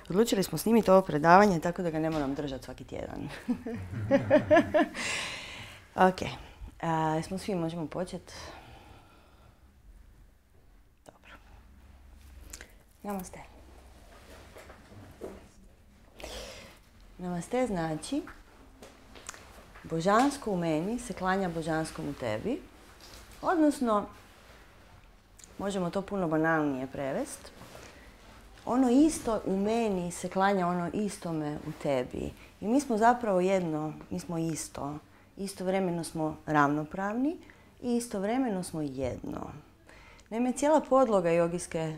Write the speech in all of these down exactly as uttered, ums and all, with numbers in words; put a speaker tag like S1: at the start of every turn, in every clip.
S1: Odlučili smo snimiti ovo predavanje tako da ga ne moram držati svaki tjedan. Ok. Uh, smo svi, možemo početi? Dobro. Namaste. Namaste znači božansko u meni se klanja božanskom u tebi. Odnosno, možemo to puno banalnije prevesti. Ono isto u meni se klanja ono istome u tebi. I mi smo zapravo jedno, mi smo isto. Istovremeno smo ravnopravni i istovremeno smo jedno. Naime, cijela podloga jogijske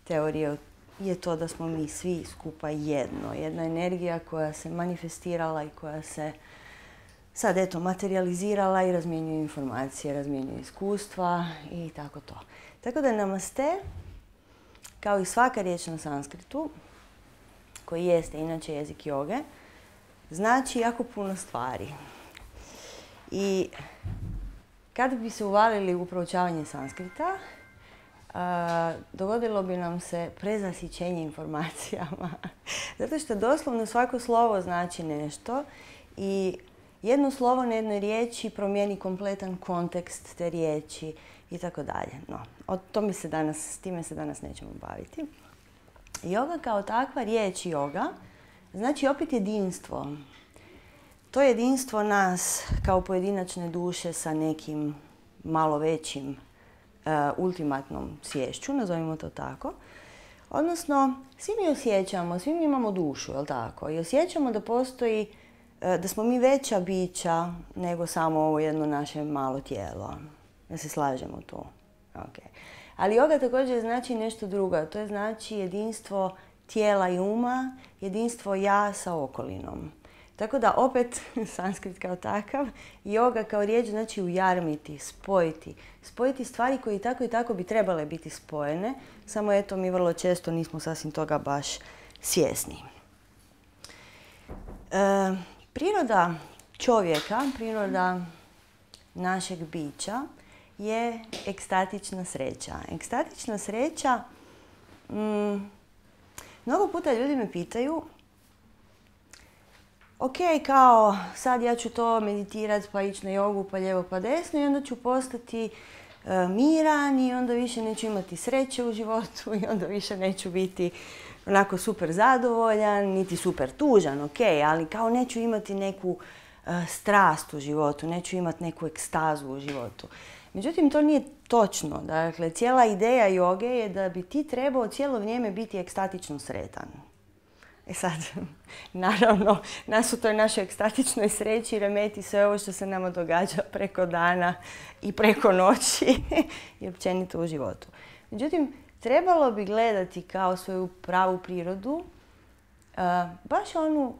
S1: teorije je to da smo mi svi skupa jedno. Jedna energija koja se manifestirala i koja se sad eto materializirala i razmjenjuje informacije, razmjenjuje iskustva i tako to. Tako da namaste, kao i svaka riječ na sanskritu, koji jeste inače jezik joge, znači jako puno stvari. I kada bi se uvalili u proučavanje sanskrita, uh, dogodilo bi nam se prezasićenje informacijama. Zato što doslovno svako slovo znači nešto i jedno slovo na jednoj riječi promijeni kompletan kontekst te riječi i tako dalje. No, o tome se danas, s time se danas nećemo baviti. Joga kao takva riječ joga znači opet jedinstvo. To jedinstvo nas kao pojedinačne duše sa nekim malo većim uh, ultimatnom sviješću, nazovimo to tako. Odnosno, svi mi osjećamo, svi mi imamo dušu, jel tako? I osjećamo da postoji, uh, da smo mi veća bića nego samo ovo jedno naše malo tijelo. Da se slažemo tu. Okay. Ali joga također znači nešto drugo. To je znači jedinstvo tijela i uma, jedinstvo ja sa okolinom. Tako da opet, sanskrit kao takav, joga kao riječ znači ujarmiti, spojiti. Spojiti stvari koje i tako i tako bi trebale biti spojene, samo eto mi vrlo često nismo sasvim toga baš svjesni. E, priroda čovjeka, priroda našeg bića je ekstatična sreća. Ekstatična sreća, mm, mnogo puta ljudi me pitaju, ok, kao sad ja ću to meditirati pa ići na jogu pa lijevo pa desno i onda ću postati e, miran i onda više neću imati sreće u životu i onda više neću biti onako super zadovoljan, niti super tužan, ok, ali kao neću imati neku e, strast u životu, neću imati neku ekstazu u životu. Međutim, to nije točno. Dakle, cijela ideja joge je da bi ti trebao cijelo vrijeme biti ekstatično sretan. E sad, naravno, nas u toj našoj ekstatičnoj sreći remeti sve ovo što se nama događa preko dana i preko noći i općenito u životu. Međutim, trebalo bi gledati kao svoju pravu prirodu, uh, baš onu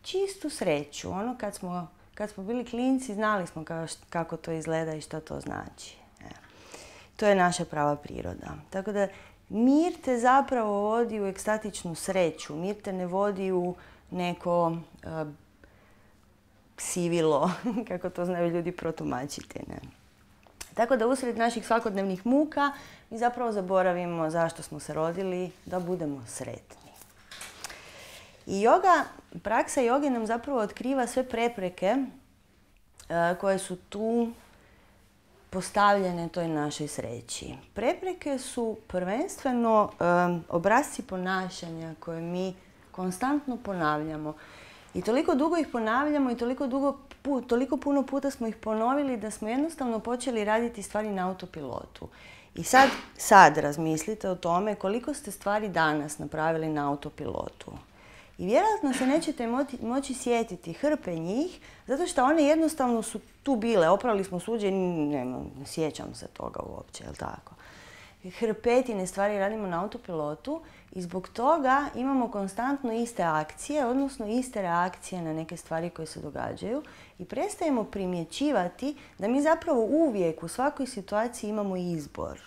S1: čistu sreću. Ono kad smo, kad smo bili klinci, znali smo kao št, kako to izgleda i što to znači. E. To je naša prava priroda. Tako da, mir te zapravo vodi u ekstatičnu sreću. Mir te ne vodi u neko uh, sivilo, kako to znaju ljudi protumačiti. Ne? Tako da usred naših svakodnevnih muka mi zapravo zaboravimo zašto smo se rodili, da budemo sretni. I joga, praksa joge nam zapravo otkriva sve prepreke uh, koje su tu postavljene toj našoj sreći. Prepreke su prvenstveno um, obrasci ponašanja koje mi konstantno ponavljamo. I toliko dugo ih ponavljamo i toliko, dugo, pu, toliko puno puta smo ih ponovili da smo jednostavno počeli raditi stvari na autopilotu. I sad, sad razmislite o tome koliko ste stvari danas napravili na autopilotu. I vjerojatno se nećete moći, moći sjetiti hrpe njih, zato što one jednostavno su tu bile. Oprali smo suđe, ne, ne sjećam se toga uopće, jel tako? Hrpetine stvari radimo na autopilotu i zbog toga imamo konstantno iste akcije, odnosno iste reakcije na neke stvari koje se događaju i prestajemo primjećivati da mi zapravo uvijek u svakoj situaciji imamo izbor.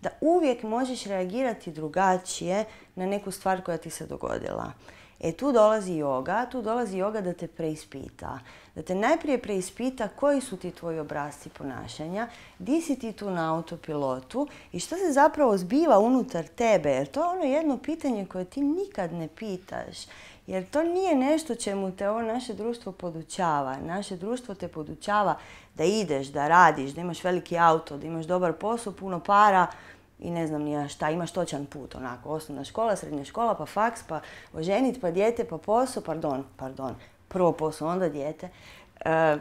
S1: Da uvijek možeš reagirati drugačije na neku stvar koja ti se dogodila. E tu dolazi yoga, tu dolazi yoga da te preispita. Da te najprije preispita koji su ti tvoji obrasci ponašanja, di si ti tu na autopilotu i što se zapravo zbiva unutar tebe. Jer to je ono jedno pitanje koje ti nikad ne pitaš. Jer to nije nešto čemu te ovo naše društvo podučava. Naše društvo te podučava da ideš, da radiš, da imaš veliki auto, da imaš dobar posao, puno para i ne znam ni ja šta, imaš točan put, onako, osnovna škola, srednja škola, pa faks, pa oženit, pa dijete, pa posao, pardon, pardon, prvo posao, onda dijete. E,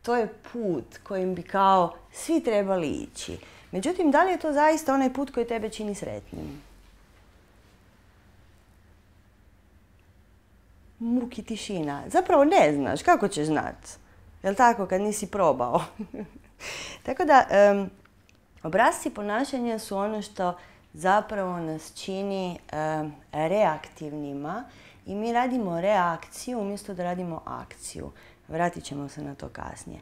S1: to je put kojim bi kao svi trebali ići. Međutim, da li je to zaista onaj put koji tebe čini sretnim? Muki tišina. Zapravo ne znaš, kako ćeš znat? Jel' tako, kad nisi probao? Tako da, um, obrasci ponašanja su ono što zapravo nas čini um, reaktivnima i mi radimo reakciju umjesto da radimo akciju. Vratit ćemo se na to kasnije.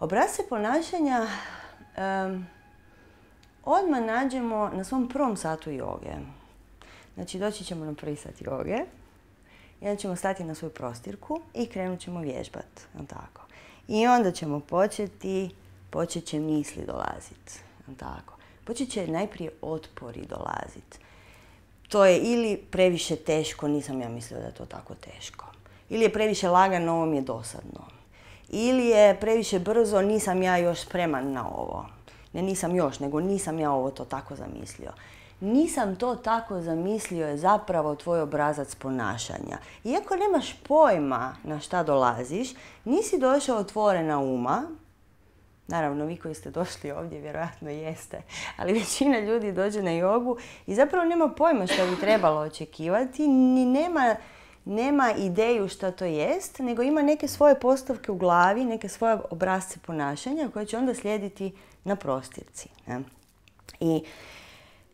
S1: Obrasce ponašanja um, odmah nađemo na svom prvom satu joge. Znači, doći ćemo na prvi sat joge. I onda ćemo stati na svoju prostirku i krenut ćemo vježbati. Tako. I onda ćemo početi, počet će misli dolaziti. Tako. Počet će najprije otpori dolaziti. To je ili previše teško, nisam ja mislila da je to tako teško. Ili je previše lagano, ovo mi je dosadno. Ili je previše brzo, nisam ja još spreman na ovo. Ne nisam još, nego nisam ja ovo to tako zamislio. Nisam to tako zamislio je zapravo tvoj obrazac ponašanja. Iako nemaš pojma na šta dolaziš, nisi došao otvorena uma. Naravno, vi koji ste došli ovdje vjerojatno jeste, ali većina ljudi dođe na jogu i zapravo nema pojma što bi trebalo očekivati, ni nema, nema ideju šta to jest, nego ima neke svoje postavke u glavi, neke svoje obrasce ponašanja koje će onda slijediti na prostirci. Ne? I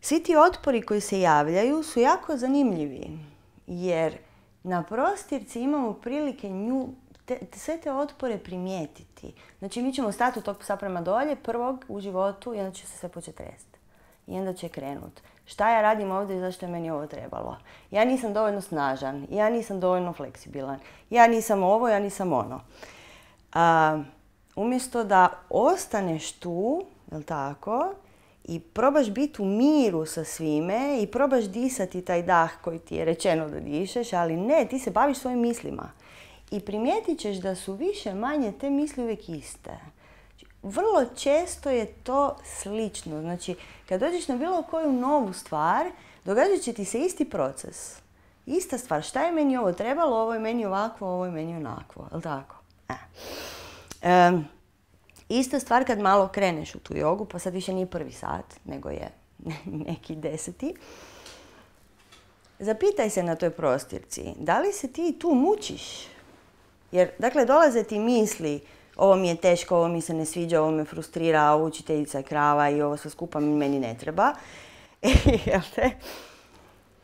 S1: svi ti otpori koji se javljaju su jako zanimljivi, jer na prostirci imamo prilike nju, te, sve te otpore primijetiti. Znači, mi ćemo stati od tog psa prema dolje, prvog u životu, i onda će se sve početi tresti. I onda će krenut. Šta ja radim ovdje i zašto je meni ovo trebalo? Ja nisam dovoljno snažan, ja nisam dovoljno fleksibilan, ja nisam ovo, ja nisam ono. A, umjesto da ostaneš tu, jel tako, i probaš biti u miru sa svime i probaš disati taj dah koji ti je rečeno da dišeš, ali ne, ti se baviš svojim mislima. I primijetit ćeš da su više manje te misli uvijek iste. Vrlo često je to slično. Znači, kad dođeš na bilo koju novu stvar, događat će ti se isti proces. Ista stvar. Šta je meni ovo trebalo, ovo je meni ovakvo, ovo je meni onakvo. Jel' tako? E. Um, Ista stvar kad malo kreneš u tu jogu, pa sad više nije prvi sat, nego je neki deseti. Zapitaj se na toj prostirci, da li se ti tu mučiš? Jer, dakle, dolaze ti misli, ovo mi je teško, ovo mi se ne sviđa, ovo me frustrira, ovo učiteljica je krava i ovo sve skupa meni ne treba. Jel te?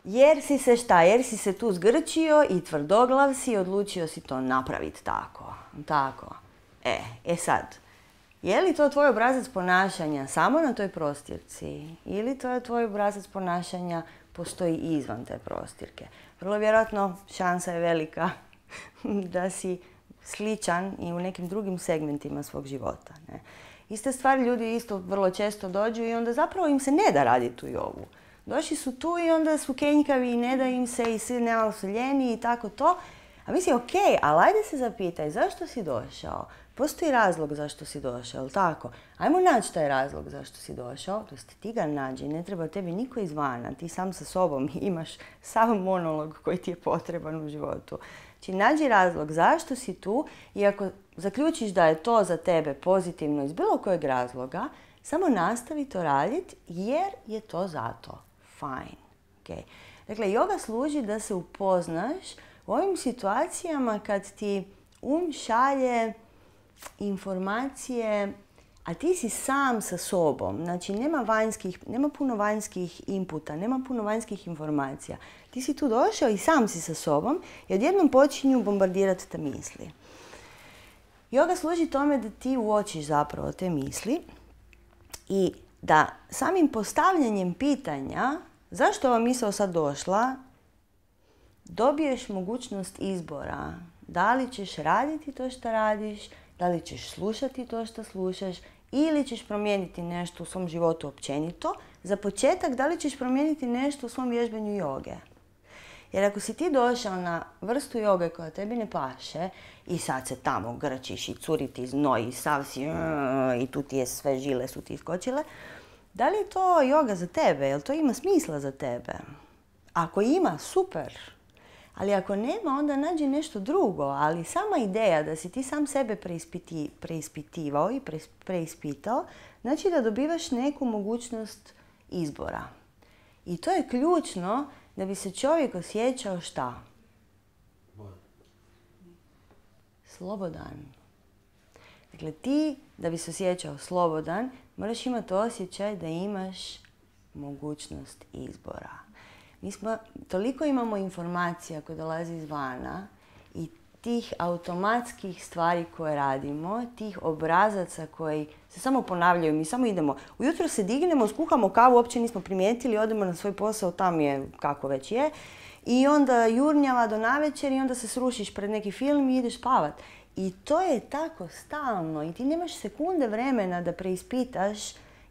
S1: Jer si se šta? Jer si se tu zgrčio i tvrdoglav si i odlučio si to napraviti tako. Tako. E, e sad. Je li to tvoj obrazac ponašanja samo na toj prostirci ili to je tvoj obrazac ponašanja postoji izvan te prostirke? Vrlo vjerojatno šansa je velika da si sličan i u nekim drugim segmentima svog života. Ne? Iste stvari ljudi isto vrlo često dođu i onda zapravo im se ne da raditi tu jogu. Došli su tu i onda su kenjkavi i ne da im se i svi nemalo su ljeni i tako to. A misli, ok, ali ajde se zapitaj zašto si došao. Postoji razlog zašto si došao, jel' tako? Ajmo naći taj razlog zašto si došao, to jest ti ga nađi, ne treba tebi niko izvana, ti sam sa sobom imaš sav monolog koji ti je potreban u životu. Znači, nađi razlog zašto si tu i ako zaključiš da je to za tebe pozitivno iz bilo kojeg razloga, samo nastavi to raditi jer je to zato. Fine. Okay. Dakle, joga služi da se upoznaš u ovim situacijama kad ti um šalje informacije, a ti si sam sa sobom. Znači, nema vanjskih, nema puno vanjskih inputa, nema puno vanjskih informacija. Ti si tu došao i sam si sa sobom i odjednom počinju bombardirati te misli. Joga služi tome da ti uočiš zapravo te misli i da samim postavljanjem pitanja zašto ova misao sad došla, dobiješ mogućnost izbora. Da li ćeš raditi to što radiš, da li ćeš slušati to što slušaš ili ćeš promijeniti nešto u svom životu općenito. Za početak, da li ćeš promijeniti nešto u svom vježbanju joge. Jer ako si ti došao na vrstu joge koja tebi ne paše i sad se tamo grčiš i curi ti znoj i sav si i tu ti je sve žile su ti iskočile, da li je to joga za tebe? Jel to ima smisla za tebe? Ako ima, super. Ali ako nema, onda nađi nešto drugo. Ali sama ideja da si ti sam sebe preispiti, preispitivao i preispitao, znači da dobivaš neku mogućnost izbora. I to je ključno da bi se čovjek osjećao šta? Slobodan. Dakle, ti da bi se osjećao slobodan, moraš imati osjećaj da imaš mogućnost izbora. Mi smo, toliko imamo informacija koje dolazi izvana i tih automatskih stvari koje radimo, tih obrazaca koji se samo ponavljaju. Mi samo idemo, ujutro se dignemo, skuhamo kavu, uopće nismo primijetili, odemo na svoj posao, tam je kako već je. I onda jurnjava do navečer i onda se srušiš pred neki film i ideš spavat. I to je tako stalno i ti nemaš sekunde vremena da preispitaš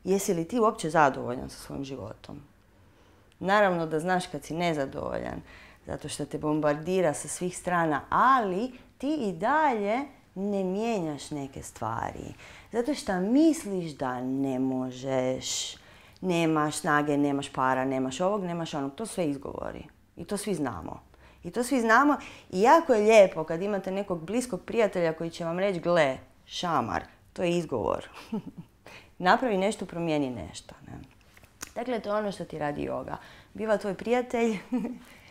S1: jesi li ti uopće zadovoljan sa svojim životom. Naravno da znaš kad si nezadovoljan, zato što te bombardira sa svih strana, ali ti i dalje ne mijenjaš neke stvari. Zato što misliš da ne možeš, nemaš snage, nemaš para, nemaš ovog, nemaš onog. To sve izgovori. I to svi znamo. I to svi znamo i jako je lijepo kad imate nekog bliskog prijatelja koji će vam reći gle, šamar, to je izgovor. Napravi nešto, promijeni nešto. Ne? Dakle, to je ono što ti radi joga. Biva tvoj prijatelj,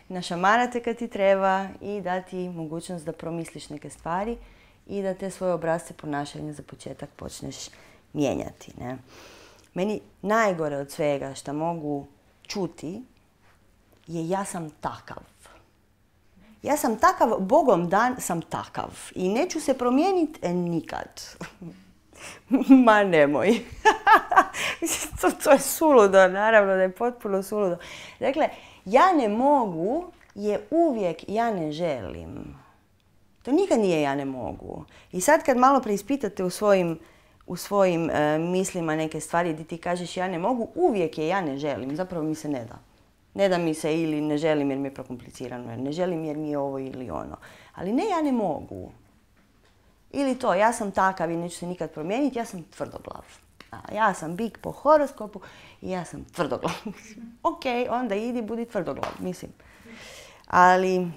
S1: našamara te kad ti treba i da ti mogućnost da promisliš neke stvari i da te svoje obrasce ponašanja za početak počneš mijenjati. Ne? Meni najgore od svega što mogu čuti je ja sam takav. Ja sam takav, Bogom dan sam takav i neću se promijeniti nikad. Ma nemoj. to, to je suludo, naravno da je potpuno suludo. Dakle, ja ne mogu je uvijek ja ne želim. To nikad nije ja ne mogu. I sad kad malo preispitate u svojim, u svojim e, mislima neke stvari gdje ti kažeš ja ne mogu, uvijek je ja ne želim. Zapravo mi se ne da. Ne da mi se ili ne želim jer mi je prokomplicirano, jer ne želim jer mi je ovo ili ono. Ali ne, ja ne mogu. Ili to, ja sam takav i neću se nikad promijeniti, ja sam tvrdoglav. A, ja sam bik po horoskopu i ja sam tvrdoglav. Ok, onda idi, budi tvrdoglav, mislim. Ali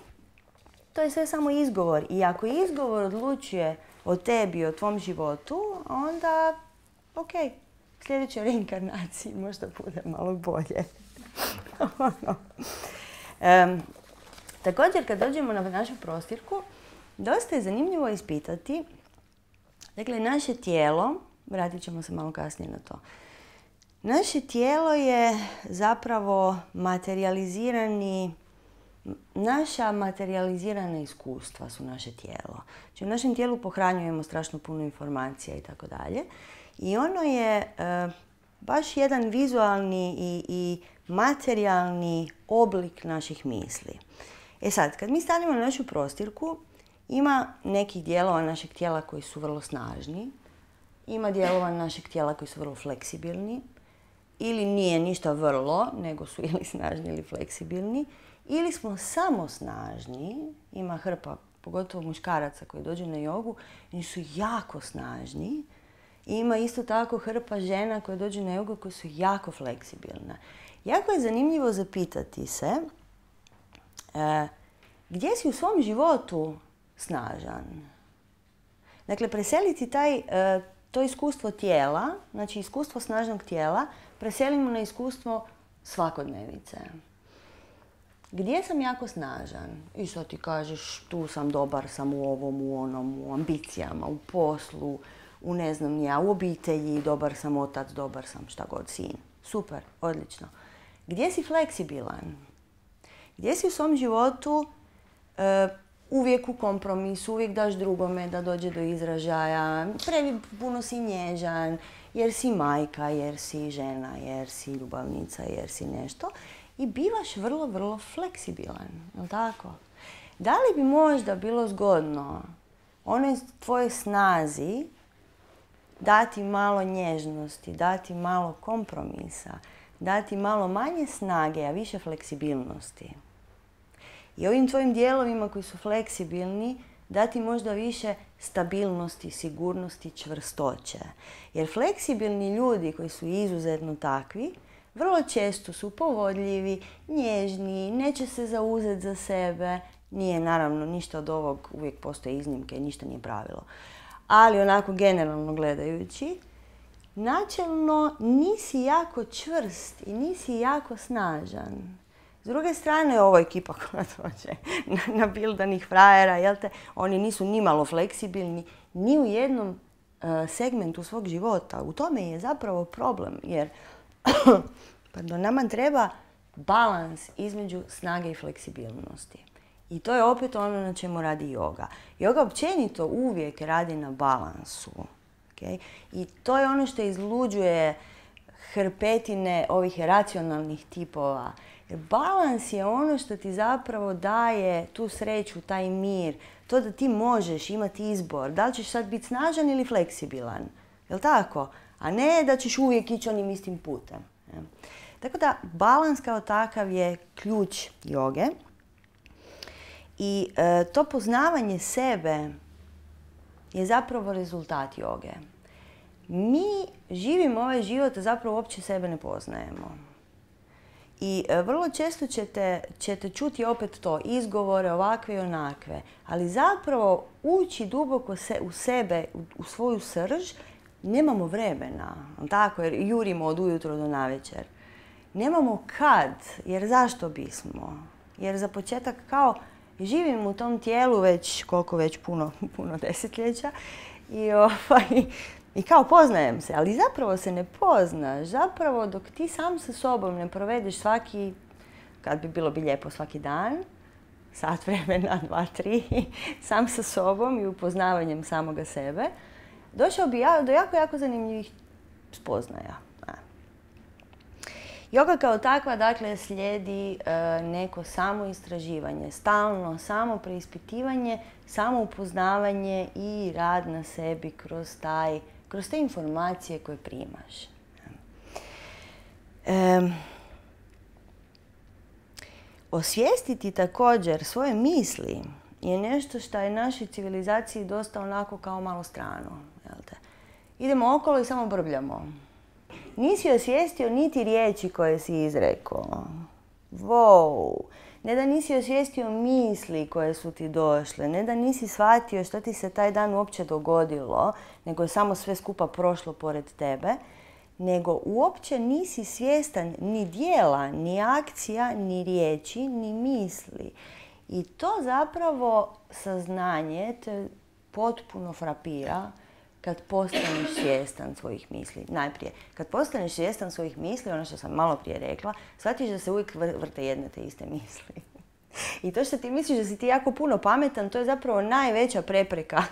S1: to je sve samo izgovor. I ako izgovor odlučuje o tebi, o tvom životu, onda ok, sljedećoj reinkarnaciji možda bude malo bolje. um, također, kad dođemo na našu prostirku, dosta je zanimljivo ispitati, dakle, naše tijelo, vratit ćemo se malo kasnije na to, naše tijelo je zapravo materializirani, naša materializirana iskustva su naše tijelo. Znači, u našem tijelu pohranjujemo strašno puno informacija i tako dalje. I ono je uh, baš jedan vizualni i, i materijalni oblik naših misli. E sad, kad mi stanemo na našu prostirku, ima nekih dijelova našeg tijela koji su vrlo snažni, ima dijelova našeg tijela koji su vrlo fleksibilni, ili nije ništa vrlo, nego su ili snažni ili fleksibilni, ili smo samo snažni, ima hrpa, pogotovo muškaraca koji dođu na jogu, oni su jako snažni, i ima isto tako hrpa žena koje dođu na jogu koje su jako fleksibilne. Jako je zanimljivo zapitati se e, gdje si u svom životu snažan. Dakle, preseliti taj, e, to iskustvo tijela, znači iskustvo snažnog tijela, preselimo na iskustvo svakodnevice. Gdje sam jako snažan? I sad ti kažeš tu sam dobar, sam u ovom, u onom, u ambicijama, u poslu, u ne znam ja, u obitelji, dobar sam otac, dobar sam šta god, sin. Super, odlično. Gdje si fleksibilan? Gdje si u svom životu e, uvijek u kompromisu, uvijek daš drugome da dođe do izražaja, previ puno si nježan, jer si majka, jer si žena, jer si ljubavnica, jer si nešto. i bivaš vrlo, vrlo fleksibilan, jel' tako? Da li bi možda bilo zgodno onoj tvojoj snazi dati malo nježnosti, dati malo kompromisa, dati malo manje snage, a više fleksibilnosti? I ovim tvojim dijelovima koji su fleksibilni dati možda više stabilnosti, sigurnosti, čvrstoće. Jer fleksibilni ljudi koji su izuzetno takvi, vrlo često su povodljivi, nježni, neće se zauzeti za sebe. Nije naravno ništa od ovog, uvijek postoje iznimke i ništa nije pravilo. Ali onako generalno gledajući, načelno nisi jako čvrst i nisi jako snažan. S druge strane, ovo ekipa koja dođe nabildanih frajera, jel te, oni nisu nimalo fleksibilni ni u jednom uh, segmentu svog života. U tome je zapravo problem, jer pardon, nama treba balans između snage i fleksibilnosti. I to je opet ono na čemu radi yoga. Yoga općenito uvijek radi na balansu. Okay? I to je ono što izluđuje hrpetine ovih racionalnih tipova. Jer balans je ono što ti zapravo daje tu sreću, taj mir, to da ti možeš imati izbor. Da li ćeš sad biti snažan ili fleksibilan? Jel' tako? A ne da ćeš uvijek ići onim istim putem. Tako da balans kao takav je ključ joge. I e, to poznavanje sebe je zapravo rezultat joge. Mi živimo ovaj život, a zapravo uopće sebe ne poznajemo. I e, vrlo često ćete, ćete čuti opet to, izgovore ovakve i onakve, ali zapravo ući duboko se, u sebe, u, u svoju srž, nemamo vremena, tako, jer jurimo od ujutro do navečer. Nemamo kad, jer zašto bismo? Jer za početak kao živim u tom tijelu već, koliko već, puno, puno desetljeća i, ovaj, i kao poznajem se, ali zapravo se ne poznaš. Zapravo dok ti sam sa sobom ne provedeš svaki, kad bi bilo bi lijepo svaki dan, sat vremena, dva, tri, sam sa sobom i upoznavanjem samoga sebe, došao bi ja do jako, jako zanimljivih spoznaja. Joga kao takva, dakle, slijedi e, neko samo istraživanje, stalno samo preispitivanje, samo upoznavanje i rad na sebi kroz, taj, kroz te informacije koje primaš. E, osvijestiti također svoje misli je nešto što je našoj civilizaciji dosta onako kao malo strano. Jel te? Idemo okolo i samo brbljamo. Nisi osvijestio niti riječi koje si izrekao. Wow! Ne da nisi osvijestio misli koje su ti došle, ne da nisi shvatio što ti se taj dan uopće dogodilo, nego je samo sve skupa prošlo pored tebe, nego uopće nisi svjestan ni dijela, ni akcija, ni riječi, ni misli. I to zapravo saznanje te potpuno frapira kad postaneš svjestan svojih misli. Najprije, kad postaneš svjestan svojih misli, ono što sam malo prije rekla, shvatiš da se uvijek vrte jedne te iste misli. I to što ti misliš da si ti jako puno pametan, to je zapravo najveća prepreka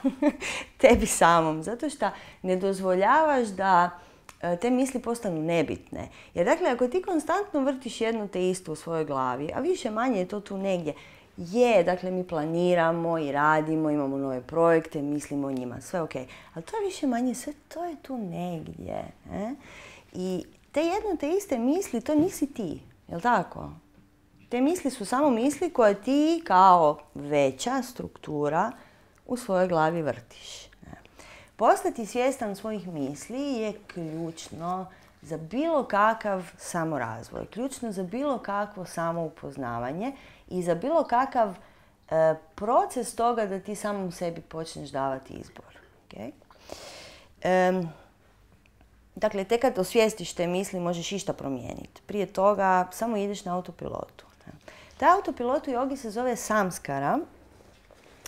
S1: tebi samom. Zato što ne dozvoljavaš da te misli postanu nebitne. Jer dakle, ako ti konstantno vrtiš jedno te isto u svojoj glavi, a više manje je to tu negdje, je, dakle, mi planiramo i radimo, imamo nove projekte, mislimo o njima, sve ok. Ali to je više manje, sve to je tu negdje. Ne? I te jedno te iste misli, to nisi ti, jel' tako? Te misli su samo misli koje ti kao veća struktura u svojoj glavi vrtiš. Ne? Postati svjestan svojih misli je ključno za bilo kakav samorazvoj, ključno za bilo kakvo samoupoznavanje i za bilo kakav e, proces toga da ti samom sebi počneš davati izbor. Okay? E, dakle, tek kad osvijestiš te misli možeš išta promijeniti. Prije toga samo ideš na autopilotu. Ne? Taj autopilot u jogi se zove samskara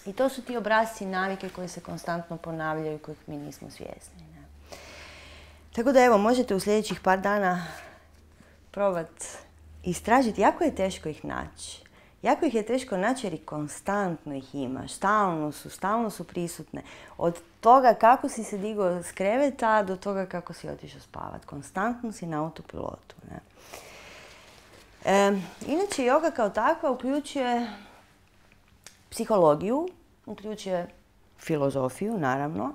S1: i to su ti obrasci navike koji se konstantno ponavljaju i kojih mi nismo svjesni. Ne? Tako da evo, možete u sljedećih par dana probati istražiti. Jako je teško ih naći. Jako ih je teško naći jer i konstantno ih imaš. Stalno su, stalno su prisutne. Od toga kako si se digao s kreveta do toga kako si otišao spavat. Konstantno si na autopilotu. Ne? E, inače, joga kao takva uključuje psihologiju, uključuje filozofiju, naravno.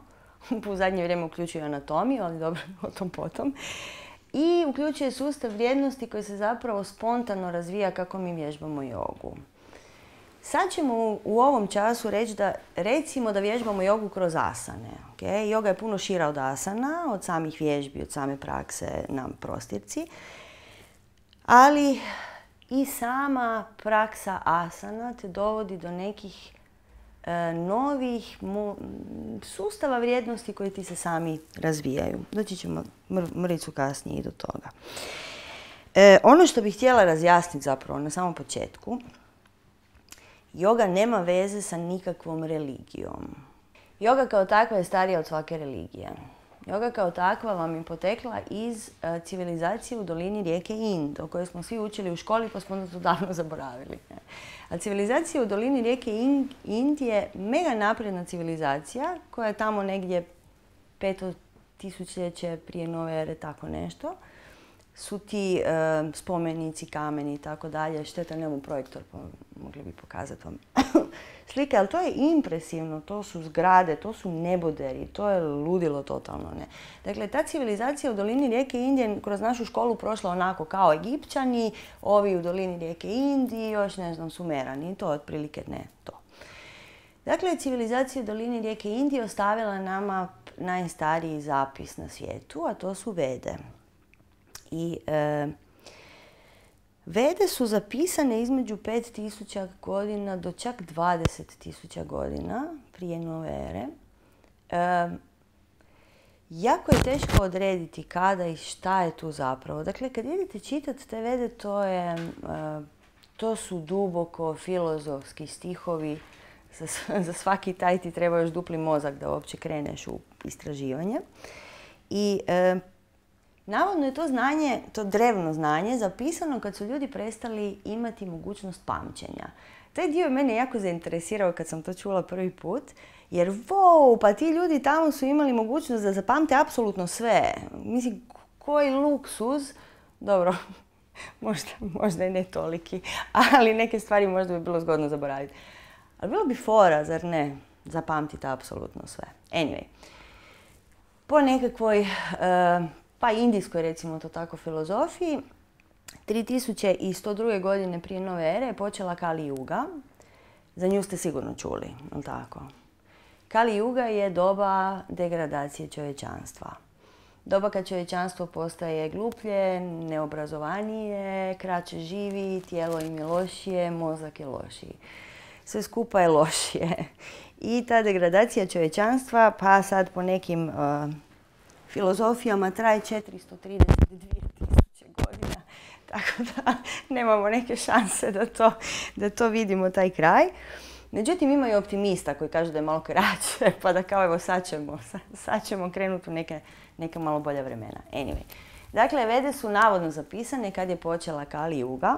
S1: U zadnje vrijeme uključuje anatomiju, ali dobro, o tom potom. I uključuje sustav vrijednosti koji se zapravo spontano razvija kako mi vježbamo jogu. Sad ćemo u ovom času reći da, recimo da vježbamo jogu kroz asane. Okay? Joga je puno šira od asana, od samih vježbi, od same prakse na prostirci. Ali i sama praksa asana te dovodi do nekih e, novih mo, sustava vrijednosti koji ti se sami razvijaju. Doći ćemo mr, mrvicu kasnije i do toga. E, ono što bih htjela razjasniti zapravo na samom početku, joga nema veze sa nikakvom religijom. Joga kao takva je starija od svake religije. Joga kao takva vam je potekla iz uh, civilizacije u dolini rijeke Ind, o kojoj smo svi učili u školi pa smo to davno zaboravili. A civilizacija u dolini rijeke Ind je mega napredna civilizacija koja je tamo negdje peto tisućljeće prije nove ere, tako nešto. Su ti uh, spomenici, kameni i tako dalje. Šteta, nemam projektor, pa mogli bi pokazati vam slike, ali to je impresivno, to su zgrade, to su neboderi, to je ludilo totalno, ne. Dakle, ta civilizacija u dolini rijeke Ind je kroz našu školu prošla onako kao Egipćani, ovi u dolini rijeke Ind i još, ne znam, Sumerani, to otprilike ne to. Dakle, civilizacija u dolini rijeke Ind je ostavila nama najstariji zapis na svijetu, a to su Vede. I e, Vede su zapisane između pet tisuća godina do čak dvadeset tisuća godina prije nove ere. E, jako je teško odrediti kada i šta je tu zapravo. Dakle, kad idete čitati te Vede, to, je, e, to su duboko filozofski stihovi. Za, za svaki taj ti treba još dupli mozak da uopće kreneš u istraživanje. I e, navodno je to znanje, to drevno znanje, zapisano kad su ljudi prestali imati mogućnost pamćenja. Taj dio je mene jako zainteresirao kad sam to čula prvi put, jer wow, pa ti ljudi tamo su imali mogućnost da zapamte apsolutno sve. Mislim, koji luksuz, dobro, možda, možda i ne toliki, ali neke stvari možda bi bilo zgodno zaboraviti. Ali bilo bi fora, zar ne, zapamtiti apsolutno sve. Anyway, po nekakvoj uh, pa indijskoj, recimo to tako, filozofiji, tri tisuće sto druge. godine prije nove ere je počela Kali Juga. Za nju ste sigurno čuli, jel tako? Kali Juga je doba degradacije čovječanstva. Doba kad čovječanstvo postaje gluplje, neobrazovanije, kraće živi, tijelo im je lošije, mozak je lošiji. Sve skupa je lošije. I ta degradacija čovječanstva, pa sad po nekim uh, filozofijama traje četiristo trideset dvije tisuće godina, tako da nemamo neke šanse da to, da to vidimo, taj kraj. Međutim, ima i optimista koji kažu da je malo kraće, pa da kao evo sad ćemo, sad ćemo krenuti u neke, neka malo bolja vremena. Anyway, dakle, Vede su navodno zapisane kad je počela Kali Juga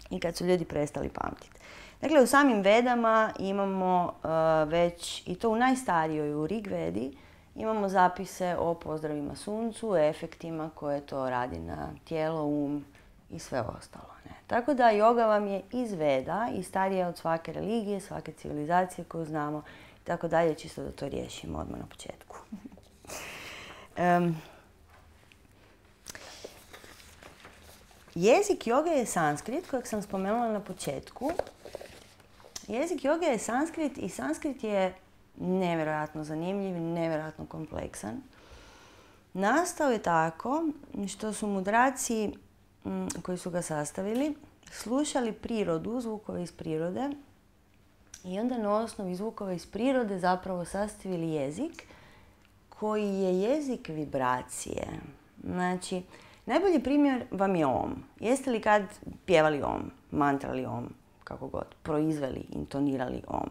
S1: i kad su ljudi prestali pamtiti. Dakle, u samim Vedama imamo uh, već, i to u najstarijoj, u Rig Vedi, imamo zapise o pozdravima suncu, efektima koje to radi na tijelo, um i sve ostalo. Ne? Tako da joga vam je iz Veda i starija od svake religije, svake civilizacije koju znamo i tako dalje, čisto da to riješimo odmah na početku. um, jezik joge je sanskrit kojeg sam spomenula na početku. Jezik joge je sanskrit i sanskrit je nevjerojatno zanimljiv i nevjerojatno kompleksan. Nastao je tako što su mudraci m, koji su ga sastavili slušali prirodu, zvukove iz prirode i onda na osnovi zvukova iz prirode zapravo sastavili jezik koji je jezik vibracije. Znači, najbolji primjer vam je om. Jeste li kad pjevali om, mantrali om, kako god, proizveli, intonirali om?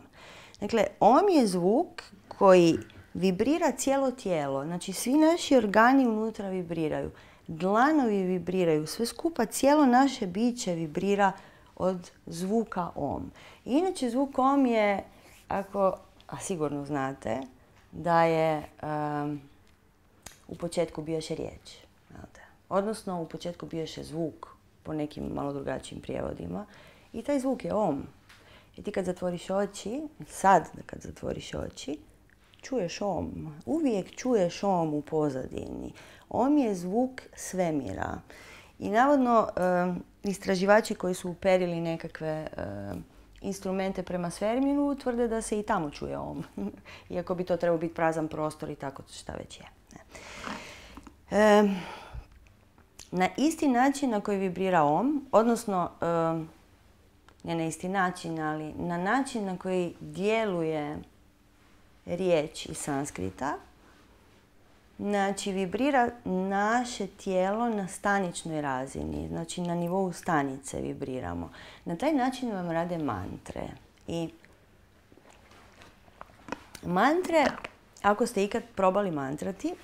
S1: Dakle, om je zvuk koji vibrira cijelo tijelo. Znači, svi naši organi unutra vibriraju. Dlanovi vibriraju. Sve skupa, cijelo naše biće vibrira od zvuka om. Inače, zvuk om je, ako, a sigurno znate, da je um, u početku bioše riječ. Odnosno, u početku bioše zvuk po nekim malo drugačijim prijevodima. I taj zvuk je om. I ti kad zatvoriš oči, sad kad zatvoriš oči, čuješ om. Uvijek čuješ om u pozadini. Om je zvuk svemira. I navodno, istraživači koji su uperili nekakve instrumente prema svemiru tvrde da se i tamo čuje om. Iako bi to trebao biti prazan prostor i tako šta već je. E, na isti način na koji vibrira om, odnosno e, ne na isti način, ali na način na koji djeluje riječ iz sanskrita, znači vibrira naše tijelo na staničnoj razini, znači na nivou stanice vibriramo. Na taj način vam rade mantre. I mantre, ako ste ikad probali mantrati,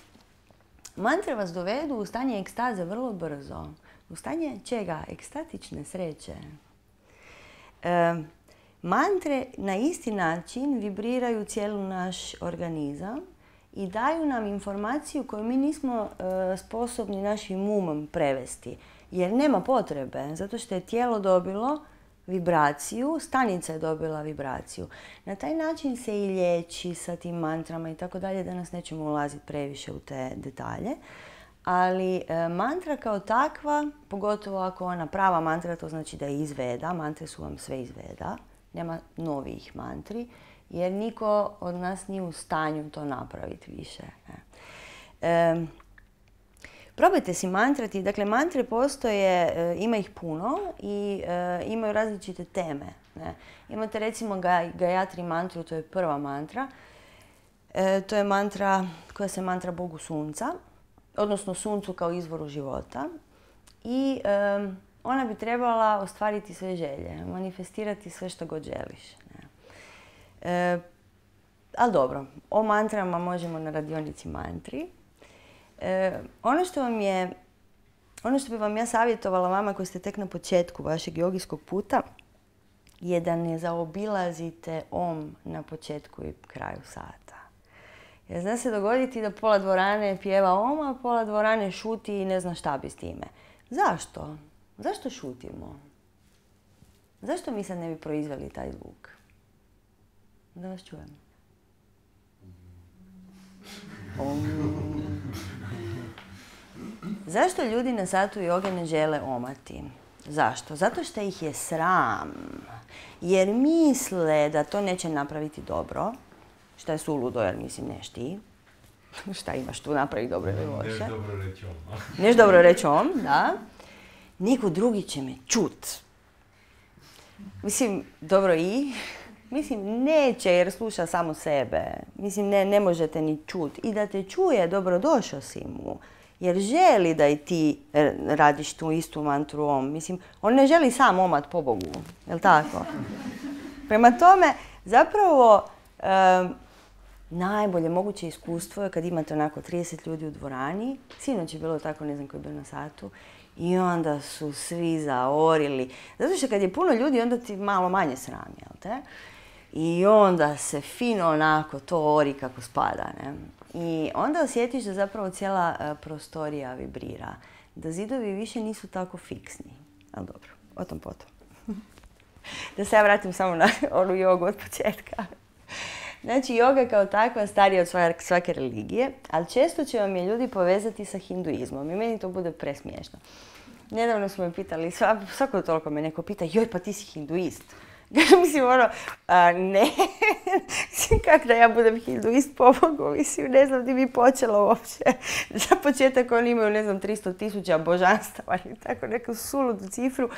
S1: mantre vas dovedu u stanje ekstaze vrlo brzo. U stanje čega? Ekstatične sreće. E, mantre na isti način vibriraju cijeli naš organizam i daju nam informaciju koju mi nismo e, sposobni našim umom prevesti. Jer nema potrebe, zato što je tijelo dobilo vibraciju, stanica je dobila vibraciju. Na taj način se i liječi sa tim mantrama i tako dalje, danas nećemo ulaziti previše u te detalje. Ali e, mantra kao takva, pogotovo ako ona prava mantra, to znači da je izveda, mantre su vam sve izveda, nema novih mantri, jer niko od nas nije u stanju to napraviti više. E, probajte si mantrati. Dakle, mantre postoje, e, ima ih puno i e, imaju različite teme. Ne? Imate recimo Gayatri mantru, to je prva mantra. E, to je mantra koja se mantra Bogu sunca, odnosno suncu kao izvoru života. I e, ona bi trebala ostvariti sve želje, manifestirati sve što god želiš. Ne? E, ali dobro, o mantrama možemo na radionici mantri. E, ono što vam je, ono što bi vam ja savjetovala vama koji ste tek na početku vašeg jogijskog puta je da ne zaobilazite om na početku i kraju sata. Jer zna se dogoditi da pola dvorane pjeva om, a pola dvorane šuti i ne zna šta bi s time. Zašto? Zašto šutimo? Zašto mi sad ne bi proizveli taj zvuk? Da vas čujem. Om. Zašto ljudi na satu joge ne žele omati? Zašto? Zato što ih je sram. Jer misle da to neće napraviti dobro. Što je suludo, jer mislim neš ti. Šta imaš tu napraviti dobro ili loše?
S2: Neš dobro reći om.
S1: Neš dobro reći om, da. Neko drugi će me čut. Mislim, dobro i... Mislim, neće jer sluša samo sebe. Mislim, ne, ne možete ni čut. I da te čuje, dobrodošao si mu. Jer želi da i ti radiš tu istu mantru om. Mislim, on ne želi sam omat po Bogu. Jel' tako? Prema tome, zapravo, um, najbolje moguće iskustvo je kad imate onako trideset ljudi u dvorani. Sinoć je bilo tako, ne znam ko je bio na satu. I onda su svi zaorili. Zato što kad je puno ljudi, onda ti malo manje sram, jel te? I onda se fino onako to ori kako spada, ne? I onda osjetiš da zapravo cijela uh, prostorija vibrira. Da zidovi više nisu tako fiksni. Ali dobro, o tom potom. Da se ja vratim samo na onu jogu od početka. Znači, joga kao takva starija od svake religije, ali često će vam je ljudi povezati sa hinduizmom i meni to bude presmiješno. Nedavno smo me pitali, svako toliko me neko pita, joj pa ti si hinduist. Mislim, ono, a, ne, mislim, kako da ja budem hinduist po Bogu, mislim, ne znam di bi počela uopće. Za početak oni imaju, ne znam, tristo tisuća božanstava ili tako neku suludu cifru.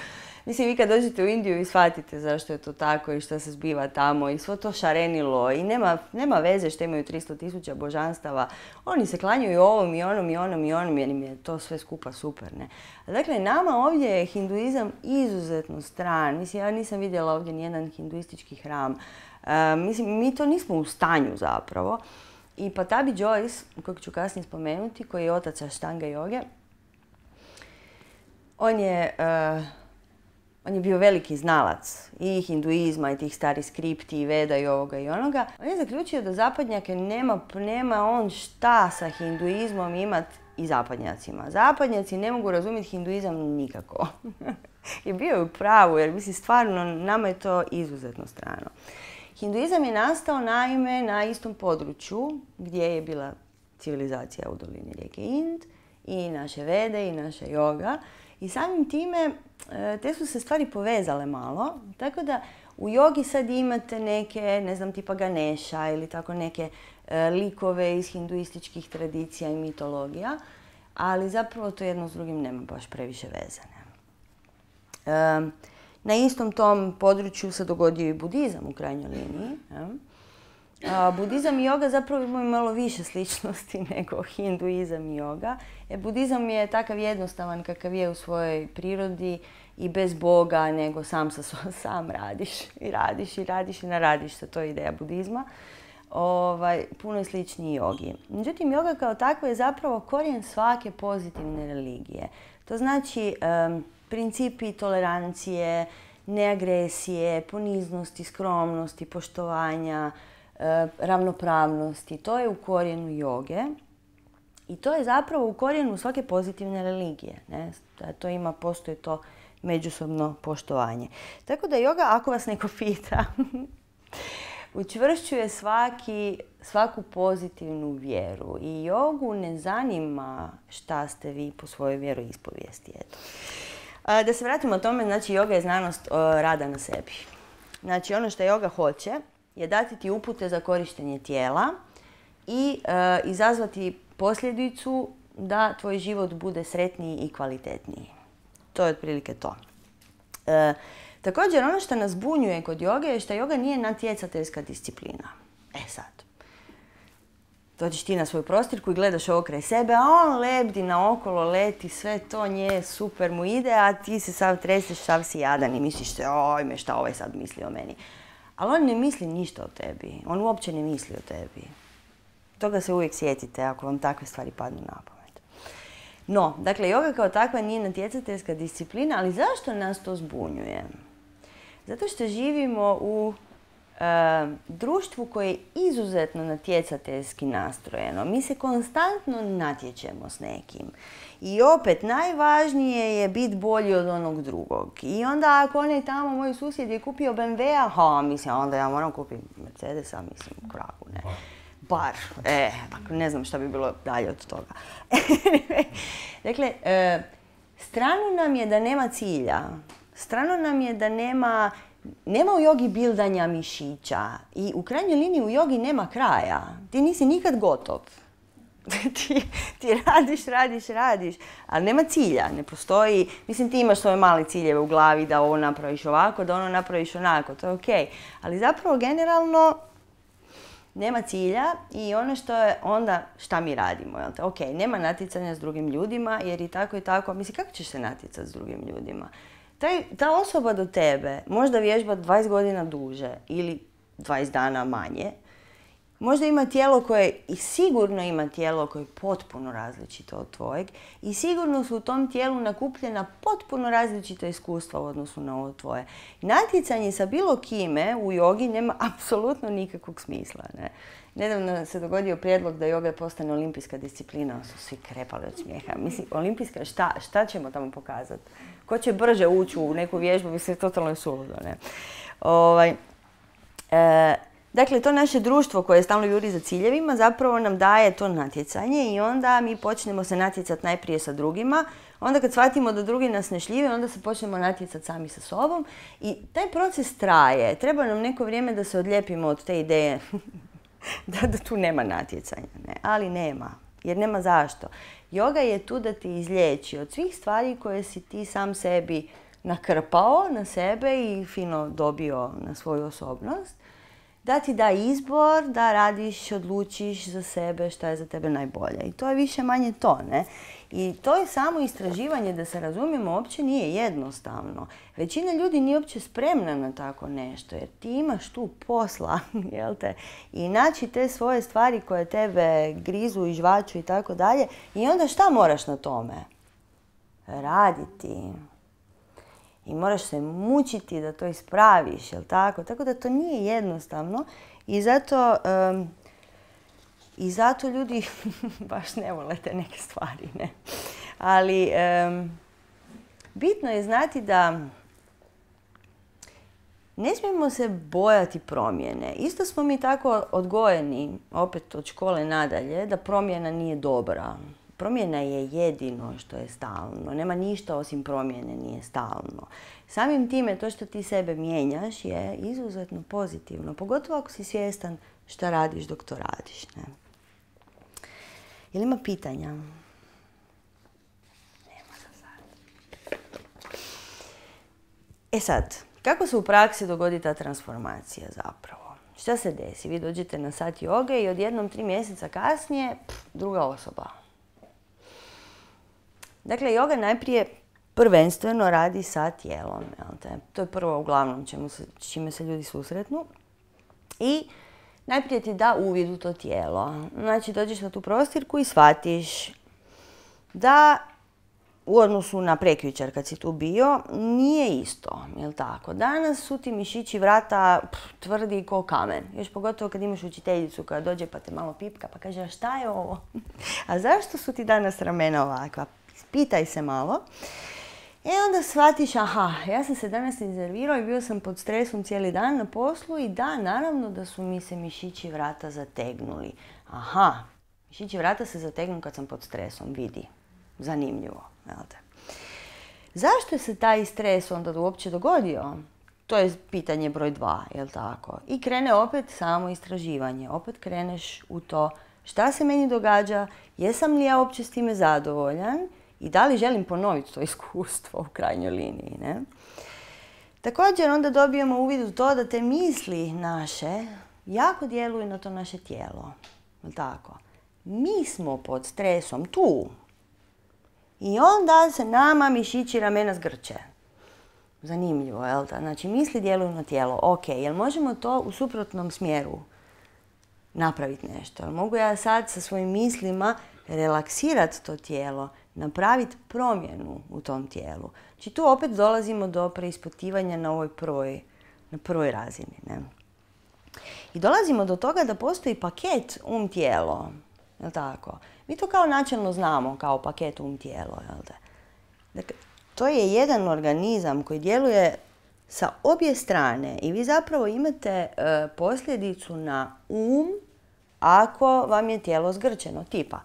S1: Mislim, vi kad dođete u Indiju i shvatite zašto je to tako i što se zbiva tamo i svo to šarenilo i nema, nema veze što imaju tristo tisuća božanstava. Oni se klanjaju ovom i onom i onom i onom jer im je to sve skupa super, ne. Dakle, nama ovdje je hinduizam izuzetno stran. Mislim, ja nisam vidjela ovdje nijedan hinduistički hram. Uh, mislim, mi to nismo u stanju zapravo. I Patabi Joyce, kojeg ću kasnije spomenuti, koji je otac Ashtanga joge, on je... Uh, On je bio veliki znalac i hinduizma i tih starih skripti i veda i ovoga i onoga. On je zaključio da zapadnjake nema, nema on šta sa hinduizmom imat i zapadnjacima. Zapadnjaci ne mogu razumjeti hinduizam nikako. I bio je u pravu, jer mislim stvarno nama je to izuzetno strano. Hinduizam je nastao naime na istom području gdje je bila civilizacija u dolini rijeke Ind i naše vede i naša joga. I samim time te su se stvari povezale malo, tako da u jogi sad imate neke, ne znam, tipa Ganesha ili tako neke e, likove iz hinduističkih tradicija i mitologija, ali zapravo to jedno s drugim nema baš previše veze. E, na istom tom području se dogodio i budizam u krajnjoj liniji. Ja. A, budizam i joga zapravo imaju malo više sličnosti nego hinduizam i joga. Jer budizam je takav jednostavan kakav je u svojoj prirodi i bez Boga, nego sam sa sam radiš i radiš i radiš i naradiš se. To je ideja budizma. Ovaj, puno je sličniji jogi. Međutim, joga kao takva je zapravo korijen svake pozitivne religije. To znači um, principi tolerancije, neagresije, poniznosti, skromnosti, poštovanja, ravnopravnosti. To je u korijenu joge i to je zapravo u korijenu svake pozitivne religije. Ne? To ima, postoji to međusobno poštovanje. Tako da joga, ako vas neko pita, učvršćuje svaki, svaku pozitivnu vjeru i jogu ne zanima šta ste vi po svojoj vjeroispovijesti. Eto. Da se vratimo o tome, znači joga je znanost rada na sebi. Znači ono što joga hoće je dati ti upute za korištenje tijela i e, izazvati posljedicu da tvoj život bude sretniji i kvalitetniji. To je otprilike to. E, također, ono što nas zbunjuje kod joge je što joga nije natjecateljska disciplina. E sad, dođeš ti na svoju prostirku i gledaš ovo kraj sebe, a on lebdi naokolo, leti, sve to nje, super mu ide, a ti se sav treseš, sav si jadan i misliš se, ojme, šta ovaj sad misli o meni. Ali on ne misli ništa o tebi. On uopće ne misli o tebi. Toga se uvijek sjetite ako vam takve stvari padnu na pamet. No, dakle, joga kao takva nije natjecateljska disciplina, ali zašto nas to zbunjuje? Zato što živimo u e, društvu koje je izuzetno natjecateljski nastrojeno. Mi se konstantno natječemo s nekim. I opet, najvažnije je biti bolji od onog drugog. I onda ako onaj tamo, moj susjed je kupio B M W-a, ha, mislim, onda ja moram kupiti Mercedesa, mislim, kragu, ne. Bar, e, ako ne znam šta bi bilo dalje od toga. Dakle, e, strano nam je da nema cilja. Strano nam je da nema, nema u jogi bildanja mišića. I u krajnjoj liniji u jogi nema kraja. Ti nisi nikad gotov. Ti, ti radiš, radiš, radiš, ali nema cilja, ne postoji, mislim ti imaš svoje male ciljeve u glavi da ovo napraviš ovako, da ono napraviš onako, to je okej. Ali zapravo generalno nema cilja i ono što je onda šta mi radimo, jel te? Okej, nema natjecanja s drugim ljudima jer i tako i tako, mislim kako ćeš se natjecati s drugim ljudima? Taj, ta osoba do tebe možda vježba dvadeset godina duže ili dvadeset dana manje. Možda ima tijelo koje, i sigurno ima tijelo koje je potpuno različito od tvojeg i sigurno su u tom tijelu nakupljena potpuno različita iskustva u odnosu na ovo tvoje. Natjecanje sa bilo kime u jogi nema apsolutno nikakvog smisla. Ne? Nedavno se dogodio prijedlog da joga postane olimpijska disciplina, su svi krepali od smijeha. Mislim, olimpijska, šta, šta ćemo tamo pokazati? Ko će brže ući u neku vježbu, mislim, totalno je suludo. Ne? Ovaj, e, Dakle, to naše društvo koje stalno juri za ciljevima zapravo nam daje to natjecanje i onda mi počnemo se natjecati najprije sa drugima. Onda kad shvatimo da drugi nas ne šljive, onda se počnemo natjecati sami sa sobom. I taj proces traje. Treba nam neko vrijeme da se odlijepimo od te ideje da, da tu nema natjecanja. Ne? Ali nema. Jer nema zašto. Joga je tu da te izliječi od svih stvari koje si ti sam sebi nakrpao na sebe i fino dobio na svoju osobnost. Da ti da izbor, da radiš, odlučiš za sebe šta je za tebe najbolje. I to je više manje to, ne? I to je samo istraživanje, da se razumijemo, uopće nije jednostavno. Većina ljudi nije uopće spremna na tako nešto, jer ti imaš tu posla, jel te? I naći te svoje stvari koje tebe grizu i žvaču i tako dalje. I onda šta moraš na tome? Raditi. I moraš se mučiti da to ispraviš, jel tako? Tako da to nije jednostavno i zato um, I zato ljudi baš ne vole te neke stvari, ne. Ali um, bitno je znati da ne smijemo se bojati promjene. Isto smo mi tako odgojeni, opet od škole nadalje, da promjena nije dobra. Promjena je jedino što je stalno. Nema ništa osim promjene nije stalno. Samim time to što ti sebe mijenjaš je izuzetno pozitivno. Pogotovo ako si svjestan šta radiš dok to radiš. Ne? Jel ima pitanja? Nema za sad. E sad, kako se u praksi dogodi ta transformacija zapravo? Šta se desi? Vi dođete na sat joge i odjednom tri mjeseca kasnije pff, druga osoba. Dakle, joga najprije prvenstveno radi sa tijelom. To je prvo uglavnom čemu se, čime se ljudi susretnu. I najprije ti da uvid u to tijelo. Znači, dođeš na tu prostirku i shvatiš da u odnosu na prekjučer kad si tu bio, nije isto, jel tako? Danas su ti mišići vrata pff, tvrdi ko kamen. Još pogotovo kad imaš učiteljicu koja dođe pa te malo pipka pa kaže, a šta je ovo? A zašto su ti danas ramena ovakva? Pitaj se malo. E onda shvatiš, aha, ja sam se danas iznervirao i bio sam pod stresom cijeli dan na poslu i da, naravno da su mi se mišići vrata zategnuli. Aha, mišići vrata se zategnu kad sam pod stresom, vidi. Zanimljivo. Zašto se taj stres onda uopće dogodio? To je pitanje broj dva, jel tako? I krene opet samo istraživanje. Opet kreneš u to šta se meni događa, jesam li ja uopće s time zadovoljan i da li želim ponoviti to iskustvo u krajnjoj liniji. Ne? Također onda dobijemo uvid u to da te misli naše jako djeluju na to naše tijelo. Jel tako? Mi smo pod stresom tu. I onda se nama mišići ramena zgrče. Zanimljivo, jel da? Znači, misli djeluju na tijelo. Ok, jel možemo to u suprotnom smjeru napraviti nešto? Jel mogu ja sad sa svojim mislima relaksirati to tijelo, napraviti promjenu u tom tijelu? Znači, tu opet dolazimo do preispitivanja na ovoj prvoj, na prvoj razini. Ne? I dolazimo do toga da postoji paket um-tijelo. Jel tako? Mi to kao načelno znamo, kao paket um-tijelo. Dakle, to je jedan organizam koji djeluje sa obje strane i vi zapravo imate e, posljedicu na um ako vam je tijelo zgrčeno. Tipa,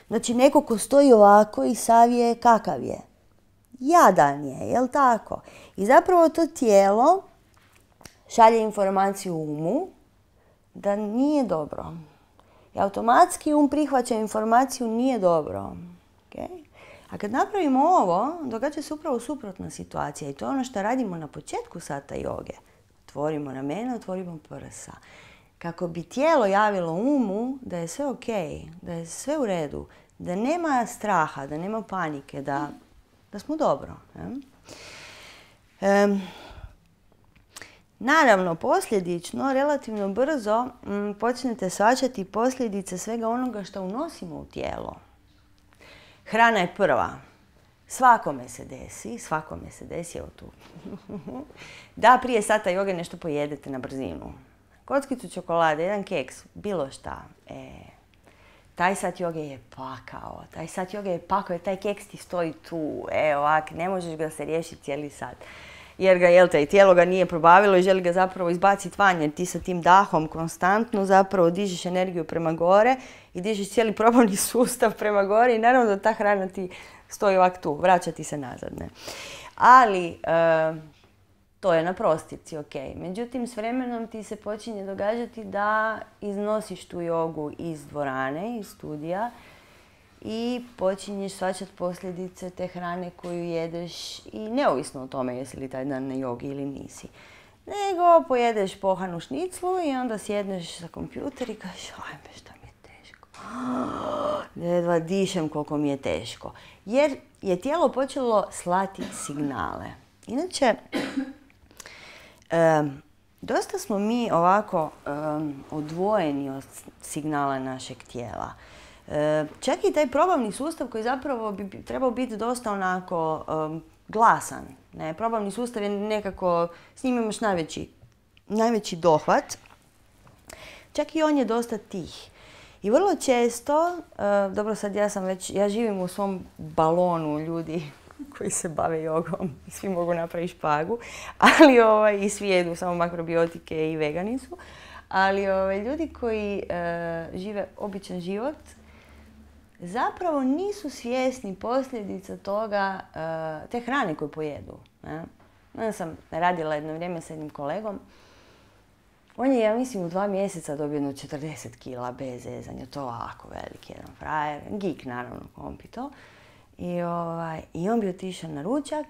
S1: znači neko ko stoji ovako i savije kakav je. Jadan je, jel tako? I zapravo to tijelo šalje informaciju umu da nije dobro. I automatski um prihvaća informaciju nije dobro. Okay? A kad napravimo ovo, događa se upravo suprotna situacija i to je ono što radimo na početku sata joge. Otvorimo ramena, otvorimo prsa. Kako bi tijelo javilo umu da je sve ok, da je sve u redu, da nema straha, da nema panike, da, da smo dobro. E? Um, Naravno, posljedično, relativno brzo m, počnete shvaćati posljedice svega onoga što unosimo u tijelo. Hrana je prva. Svakome se desi, svakome se desi, evo tu, da prije sata joge nešto pojedete na brzinu. Kockicu čokolade, jedan keks, bilo šta. E, taj sat joge je pakao, taj sat joge je pakao jer taj keks ti stoji tu. E, ovak, ne možeš ga se riješiti cijeli sat. Jer ga, jel te, tijelo ga nije probavilo i želi ga zapravo izbaciti van, jer ti sa tim dahom konstantno zapravo dižeš energiju prema gore i dižeš cijeli probavni sustav prema gore i naravno da ta hrana ti stoji ovak tu, vraća ti se nazad. Ne? Ali, e, to je na prostirci, ok. Međutim, s vremenom ti se počinje događati da iznosiš tu jogu iz dvorane, iz studija, i počinješ shvaćati posljedice te hrane koju jedeš i neovisno o tome jesi li taj dan na jogi ili nisi. Nego pojedeš pohanu šniclu i onda sjedneš za kompjuter i kažeš ajme šta mi je teško. Jedva dišem koliko mi je teško. Jer je tijelo počelo slati signale. Inače, um, dosta smo mi ovako um, odvojeni od signala našeg tijela. Čak i taj probavni sustav koji zapravo bi trebao biti dosta onako um, glasan. Ne? Probavni sustav je nekako, s njim imaš najveći, najveći dohvat. Čak i on je dosta tih. I vrlo često, uh, dobro sad ja sam već, ja živim u svom balonu ljudi koji se bave jogom i svi mogu napraviti špagu, ali ovaj, i svi jedu samo makrobiotike i vegani su, ali ovaj, ljudi koji uh, žive običan život zapravo nisu svjesni posljedica toga, uh, te hrane koju pojedu. Ne? Ja sam radila jedno vrijeme s jednim kolegom. On je, ja mislim, u dva mjeseca dobio jedno četrdeset kila bez zezanja. To ovako veliki jedan frajer. Geek, naravno, kompi to. I, ovaj, I on bi otišao na ručak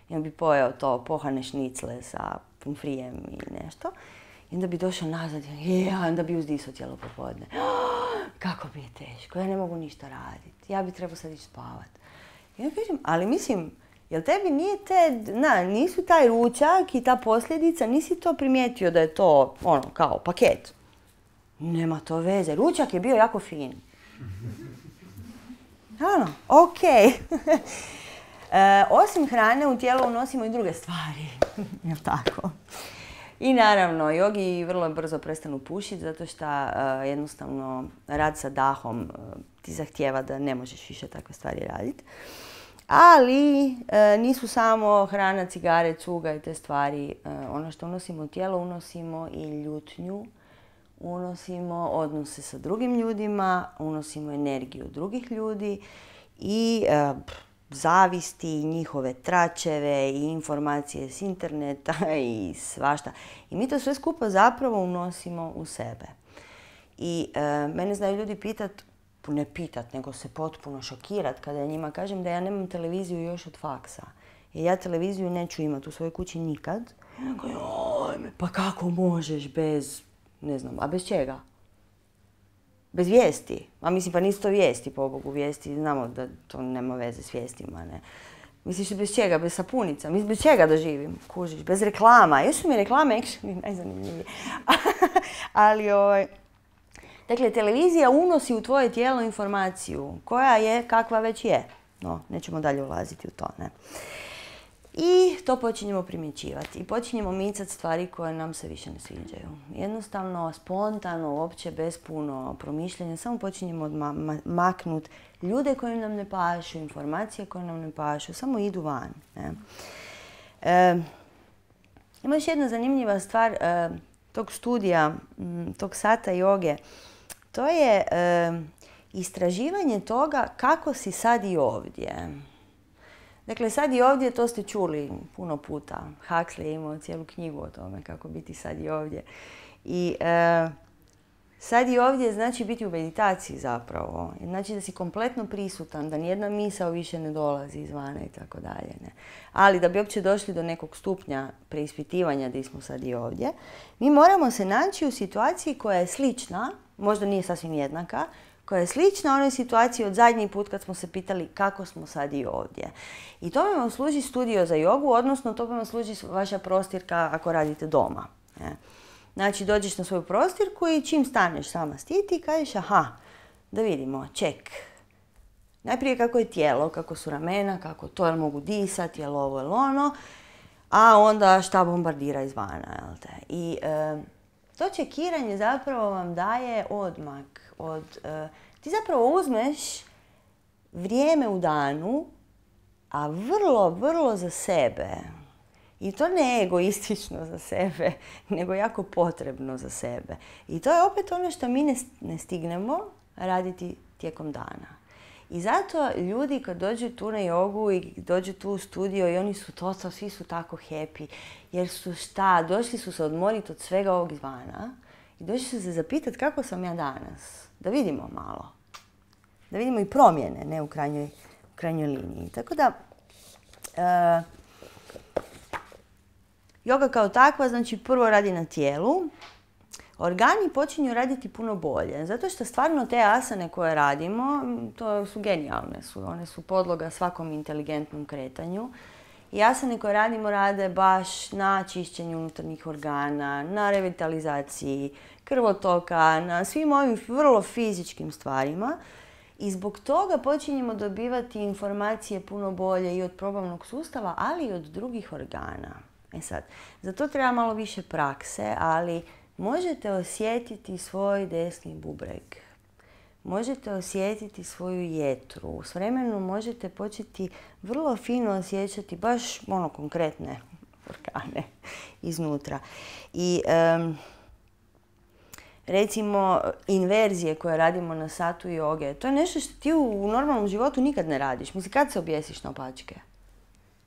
S1: i on bi pojeo to pohane šnicle sa pomfrijem i nešto. I onda bi došao nazad i ja, onda bi uzdisao cijelo popodne. Kako mi je teško, ja ne mogu ništa raditi. Ja bi trebao sad ići spavat. I ja kažem, ali mislim, jel tebi nije te, na, nisu taj ručak i ta posljedica, nisi to primijetio da je to, ono, kao paket? Nema to veze, ručak je bio jako fin. Ano, okej. Okay. e, osim hrane u tijelo unosimo i druge stvari, jel tako? I naravno, jogi vrlo brzo prestanu pušiti zato što uh, jednostavno rad sa dahom uh, ti zahtijeva da ne možeš više takve stvari raditi. Ali uh, nisu samo hrana, cigare, cuga i te stvari. Uh, ono što unosimo u tijelo, unosimo i ljutnju, unosimo odnose sa drugim ljudima, unosimo energiju drugih ljudi i uh, zavisti, njihove tračeve i informacije s interneta i svašta. I mi to sve skupa zapravo unosimo u sebe. I e, mene znaju ljudi pitat, ne pitat, nego se potpuno šokirat kada ja njima kažem da ja nemam televiziju još od faksa. Jer ja televiziju neću imati u svojoj kući nikad. Pa kako možeš bez, ne znam, a bez čega? Bez vijesti. A mislim, pa nisu to vijesti, pobogu, vijesti. Znamo da to nema veze s vijestima, ne. Misliš bez čega? Bez sapunica? Mislim, bez čega da živim? Kužiš? Bez reklama. Još su mi reklame actually najzanimljivije. Ali, ovaj... Dakle, televizija unosi u tvoje tijelo informaciju koja je kakva već je. No, nećemo dalje ulaziti u to, ne. I to počinjemo primjećivati i počinjemo micati stvari koje nam se više ne sviđaju. Jednostavno, spontano, uopće bez puno promišljanja, samo počinjemo ma ma maknuti ljude koji nam ne pašu, informacije koje nam ne pašu, samo idu van. Ne? E, ima još jedna zanimljiva stvar e, tog studija, m, tog sata joge. To je e, istraživanje toga kako si sad i ovdje. Dakle, sad i ovdje, to ste čuli puno puta. Huxley je imao cijelu knjigu o tome kako biti sad i ovdje. I e, sad i ovdje znači biti u meditaciji zapravo. Znači da si kompletno prisutan, da nijedna misao više ne dolazi izvana i tako dalje. Ne. Ali da bi uopće došli do nekog stupnja preispitivanja gdje smo sad i ovdje, mi moramo se naći u situaciji koja je slična, možda nije sasvim jednaka, koja je slična onoj situaciji od zadnji put kad smo se pitali kako smo sad i ovdje. I to vam služi studio za jogu, odnosno to vam služi vaša prostirka ako radite doma. Ne? Znači, dođeš na svoju prostirku i čim staneš sama s ti, ti kažeš, aha, da vidimo, ček. Najprije kako je tijelo, kako su ramena, kako to, jel mogu disati, jel ovo, jel ono, a onda šta bombardira izvana, jel te. I e, to čekiranje zapravo vam daje odmak. Od, uh, ti zapravo uzmeš vrijeme u danu, a vrlo, vrlo za sebe. I to ne egoistično za sebe, nego jako potrebno za sebe. I to je opet ono što mi ne, ne stignemo raditi tijekom dana. I zato ljudi kad dođu tu na jogu i dođu tu u studio i oni su to, svi su tako happy. Jer su šta, došli su se odmoriti od svega ovog izvana i došli su se zapitati kako sam ja danas. Da vidimo malo. Da vidimo i promjene, ne u krajnjoj, u krajnjoj liniji. Tako da, e, joga kao takva, znači prvo radi na tijelu. Organi počinju raditi puno bolje. Zato što stvarno te asane koje radimo, to su genijalne. Su. One su podloga svakom inteligentnom kretanju. I asane koje radimo rade baš na čišćenju unutarnjih organa, na revitalizaciji krvotoka, na svim ovim vrlo fizičkim stvarima. I zbog toga počinjemo dobivati informacije puno bolje i od probavnog sustava, ali i od drugih organa. E sad, za to treba malo više prakse, ali možete osjetiti svoj desni bubreg. možete osjetiti svoju jetru. S vremenom možete početi vrlo fino osjećati baš ono konkretne organe iznutra. I um, recimo inverzije koje radimo na satu joge, to je nešto što ti u normalnom životu nikad ne radiš. Mislim, kad se objesiš na opačke?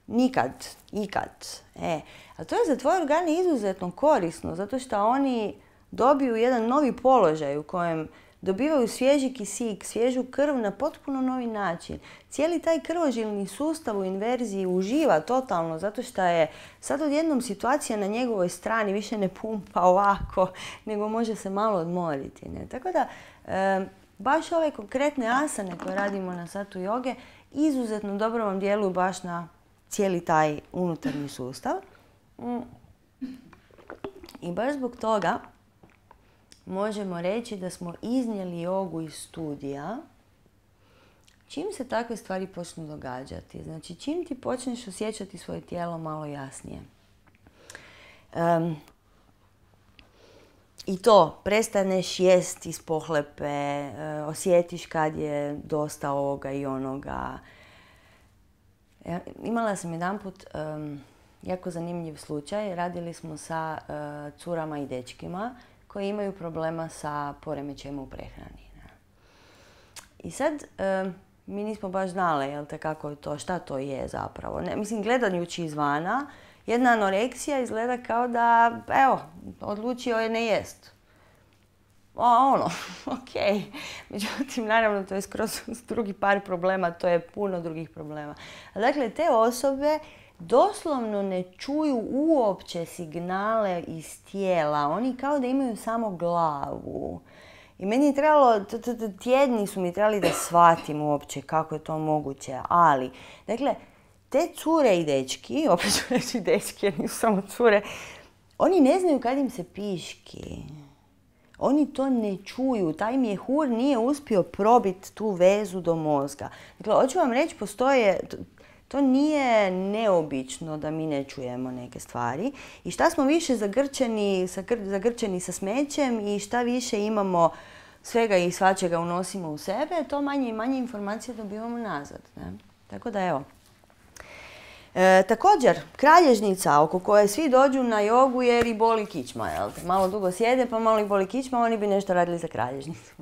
S1: Nikad, ikad. E, a to je za tvoje organe izuzetno korisno, zato što oni dobiju jedan novi položaj u kojem dobivaju svježi kisik, svježu krv na potpuno novi način. Cijeli taj krvožilni sustav u inverziji uživa totalno, zato što je sad odjednom situacija na njegovoj strani više ne pumpa ovako, nego može se malo odmoriti. Ne? Tako da, e, baš ove konkretne asane koje radimo na satu joge izuzetno dobro vam djeluju baš na cijeli taj unutarnji sustav. I baš zbog toga možemo reći da smo iznijeli jogu iz studija čim se takve stvari počnu događati. Znači, čim ti počneš osjećati svoje tijelo malo jasnije. Um, I to, prestaneš jest iz pohlepe, uh, osjetiš kad je dosta ovoga i onoga. Ja, imala sam jedanput um, jako zanimljiv slučaj. Radili smo sa uh, curama i dečkima koji imaju problema sa poremećajima u prehrani. Ne? I sad, um, mi nismo baš znali, jel te, kako je to, šta to je zapravo. Ne, mislim, gledajući izvana, jedna anoreksija izgleda kao da, evo, odlučio je ne jest. O, ono, ok. Međutim, naravno, to je skroz drugi par problema, to je puno drugih problema. A dakle, te osobe doslovno ne čuju uopće signale iz tijela. Oni kao da imaju samo glavu. I meni je trebalo, tjedni su mi trebali da shvatim uopće kako je to moguće. Ali, dakle, te cure i dečki, opet ću reći dečki jer nisu samo cure, oni ne znaju kad im se piški. Oni to ne čuju. Taj mjehur nije uspio probiti tu vezu do mozga. Dakle, hoću vam reći, postoje... To nije neobično da mi ne čujemo neke stvari. I šta smo više zagrčeni sa, zagrčeni sa smećem i šta više imamo svega i svačega unosimo u sebe, to manje i manje informacije dobivamo nazad. Ne? Tako da evo. E, također, kralježnica oko koje svi dođu na jogu jer i boli kičma. Jel? Malo dugo sjede pa malo i boli kičma, oni bi nešto radili za kralježnicu.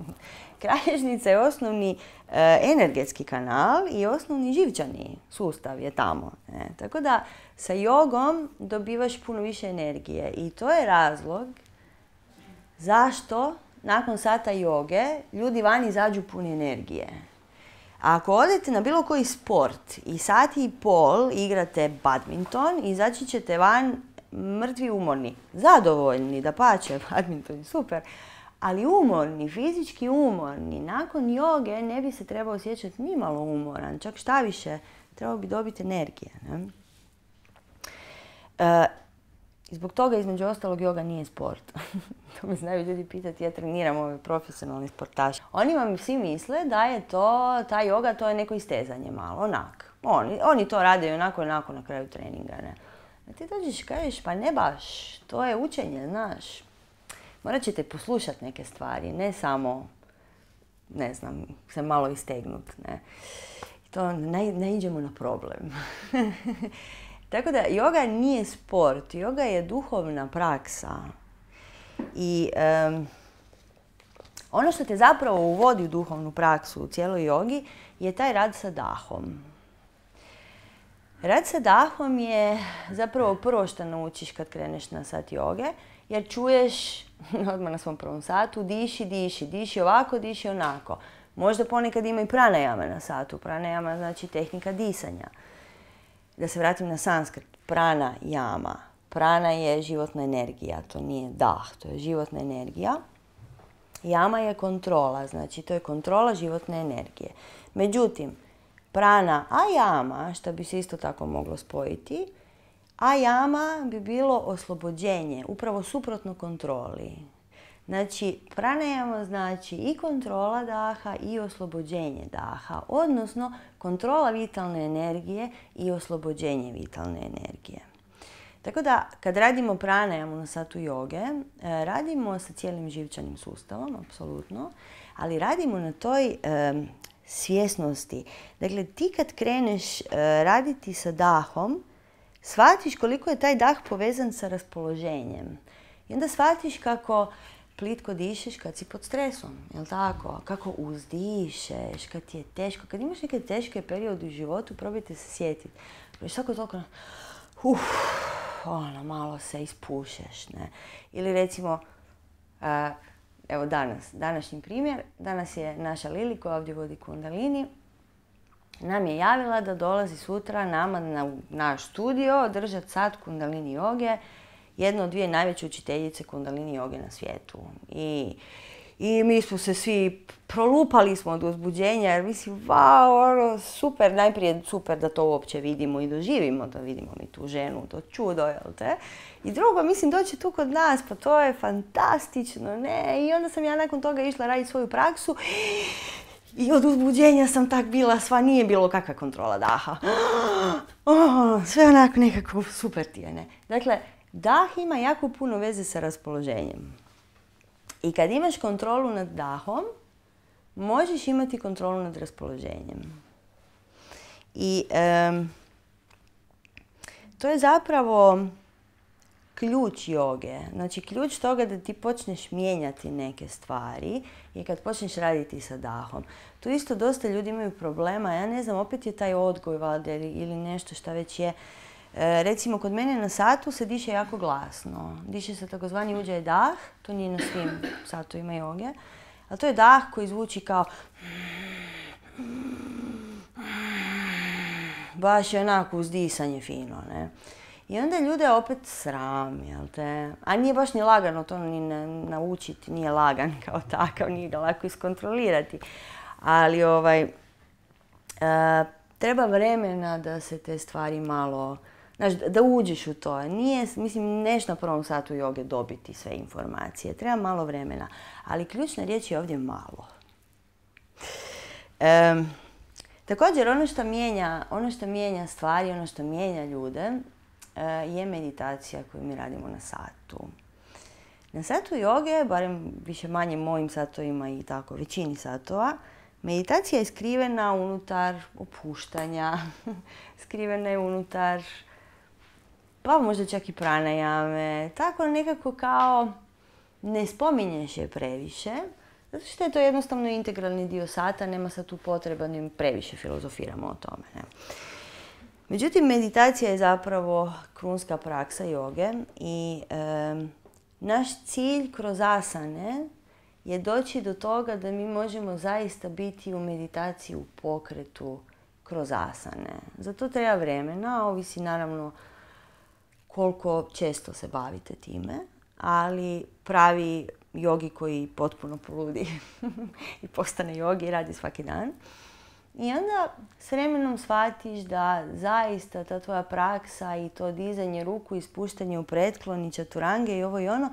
S1: Kralježnica je osnovni e, energetski kanal i osnovni živčani sustav je tamo. Ne? Tako da sa jogom dobivaš puno više energije i to je razlog zašto nakon sata joge ljudi van izađu puni energije. A ako odete na bilo koji sport i sat i pol igrate badminton, izaći ćete van mrtvi umorni. Zadovoljni, dapače, badminton je super. Ali umorni, fizički umorni, nakon joge ne bi se trebao osjećati ni malo umoran. Čak šta više, trebao bi dobiti energije. Ne? E, zbog toga, između ostalog, joga nije sport. To me znaju ljudi pitati, ja treniram ove profesionalni sportaše. Oni vam svi misle da je to, ta joga, to je neko istezanje malo, onak. Oni, oni to rade i onako, onako na kraju treninga. Ne? A ti dođeš i kažeš, pa ne baš, to je učenje, znaš. Morat ćete poslušati neke stvari, ne samo, ne znam, se malo istegnut. Ne. To ne, ne iđemo na problem. Tako da, joga nije sport, joga je duhovna praksa. I um, ono što te zapravo uvodi u duhovnu praksu u cijeloj jogi je taj rad sa dahom. Rad sa dahom je zapravo prvo što naučiš kad kreneš na sat joge, jer čuješ odmah na svom prvom satu, diši, diši, diši ovako, diši onako. Možda ponekad ima i pranajama na satu. Pranajama znači tehnika disanja. Da se vratim na sanskrit. Pranajama. Prana je životna energija, to nije dah, to je životna energija. Jama je kontrola, znači to je kontrola životne energije. Međutim, prana a jama, što bi se isto tako moglo spojiti, a jama bi bilo oslobođenje, upravo suprotno kontroli. Znači, pranajama znači i kontrola daha i oslobođenje daha, odnosno kontrola vitalne energije i oslobođenje vitalne energije. Tako da, kad radimo pranajamu na satu joge, radimo sa cijelim živčanim sustavom, apsolutno, ali radimo na toj um, svjesnosti. Dakle, ti kad kreneš uh, raditi sa dahom, shvatiš koliko je taj dah povezan sa raspoloženjem. I onda shvatiš kako plitko dišeš kad si pod stresom, jel tako? Kako uzdišeš, kad ti je teško. Kad imaš neke teške periode u životu, probajte se sjetiti. Svako toliko, uf, ono, malo se ispušeš, ne. Ili recimo, uh, evo danas, današnji primjer, danas je naša Lili koja ovdje vodi Kundalini, nam je javila da dolazi sutra nama na naš studio održati sat Kundalini joge, jedna od dvije najveće učiteljice Kundalini joge na svijetu. I, i mi smo se svi prolupali smo od uzbuđenja jer mislim, wow, ono, super, najprije super da to uopće vidimo i doživimo, da vidimo mi tu ženu, to čudo, jel te? I drugo, mislim, doći tu kod nas, pa to je fantastično, ne? I onda sam ja nakon toga išla raditi svoju praksu i od uzbuđenja sam tak bila, sva nije bilo kakva kontrola daha. Oh, sve onako nekako super ti je, ne? Dakle, dah ima jako puno veze sa raspoloženjem. I kad imaš kontrolu nad dahom, možeš imati kontrolu nad raspoloženjem. I um, to je zapravo ključ joge. Znači, ključ toga da ti počneš mijenjati neke stvari je kad počneš raditi sa dahom. Tu isto dosta ljudi imaju problema. Ja ne znam, opet je taj odgoj valjda ili nešto šta već je. E, recimo, kod mene na satu se diše jako glasno. Diše se takozvani uđaj dah. To nije na svim satovima joge. Ali to je dah koji zvuči kao baš je onako uzdisanje fino, ne? I onda ljude opet sram, jel te? A nije baš ni lagano to ni naučiti, nije lagan kao takav, nije ga lako iskontrolirati. Ali ovaj, uh, treba vremena da se te stvari malo, znaš, da uđeš u to. Nije, mislim, neš na prvom satu joge dobiti sve informacije, treba malo vremena. Ali ključna riječ je ovdje malo. Um, također, ono što mijenja, ono što mijenja stvari, ono što mijenja ljude, je meditacija koju mi radimo na satu. Na satu joge, barem više manje mojim satovima i tako većini satova, meditacija je skrivena unutar opuštanja, skrivena je unutar, pa možda čak i pranajame, tako nekako kao ne spominješ je previše, zato što je to jednostavno integralni dio sata, nema sad tu potreba da previše filozofiramo o tome, ne. Međutim, meditacija je zapravo krunska praksa joge i e, naš cilj kroz asane je doći do toga da mi možemo zaista biti u meditaciji u pokretu kroz asane. Za to treba vremena, ovisi naravno koliko često se bavite time, ali pravi jogi koji potpuno poludi i postane jogi i radi svaki dan. I onda s vremenom shvatiš da zaista ta tvoja praksa i to dizanje ruku i spuštanje u pretklon i čaturange i ovo i ono,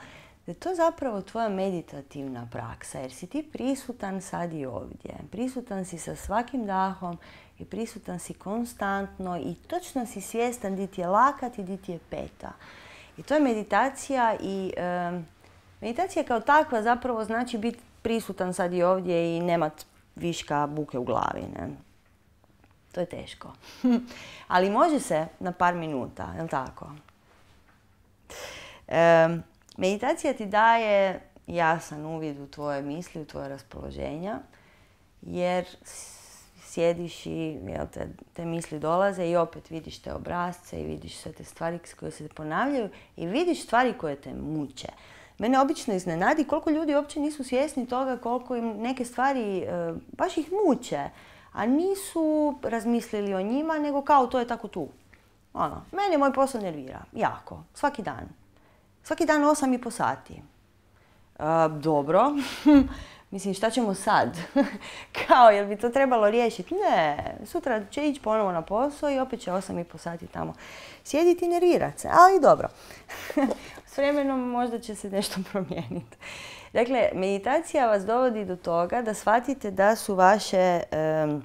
S1: da je to zapravo tvoja meditativna praksa. Jer si ti prisutan sad i ovdje. Prisutan si sa svakim dahom i prisutan si konstantno i točno si svjestan di ti je lakat i di ti je peta. I to je meditacija i e, meditacija kao takva zapravo znači biti prisutan sad i ovdje i nemat viška buke u glavi, ne? To je teško. Ali može se na par minuta, je li tako? E, meditacija ti daje jasan uvid u tvoje misli, u tvoje raspoloženja, jer sjediš i jel, te, te misli dolaze i opet vidiš te obrasce i vidiš sve te stvari koje se ponavljaju i vidiš stvari koje te muče. Mene obično iznenadi koliko ljudi uopće nisu svjesni toga koliko im neke stvari e, baš ih muče, a nisu razmislili o njima, nego kao to je tako tu. Ono, mene moj posao nervira, jako, svaki dan. Svaki dan osam i po sati. E, dobro, mislim šta ćemo sad? Kao, jel bi to trebalo riješiti? Ne, sutra će ići ponovo na posao i opet će osam i po sati tamo sjediti i nervirati se, ali dobro. S vremenom možda će se nešto promijeniti. Dakle, meditacija vas dovodi do toga da shvatite da su vaše, um,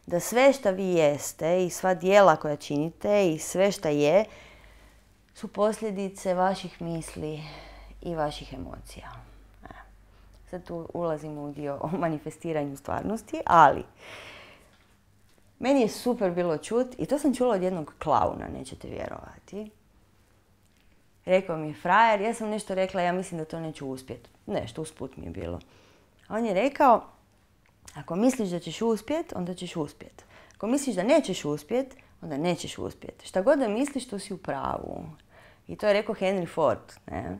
S1: da sve što vi jeste i sva djela koja činite i sve što je, su posljedice vaših misli i vaših emocija. E. Sad tu ulazimo u dio o manifestiranju stvarnosti, ali meni je super bilo čut, i to sam čula od jednog klauna, nećete vjerovati. Rekao mi je frajer, ja sam nešto rekla, ja mislim da to neću uspjeti. Nešto, usput mi je bilo. On je rekao, ako misliš da ćeš uspjeti, onda ćeš uspjeti. Ako misliš da nećeš uspjeti, onda nećeš uspjeti. Šta god da misliš, to si u pravu. I to je rekao Henry Ford. Ne?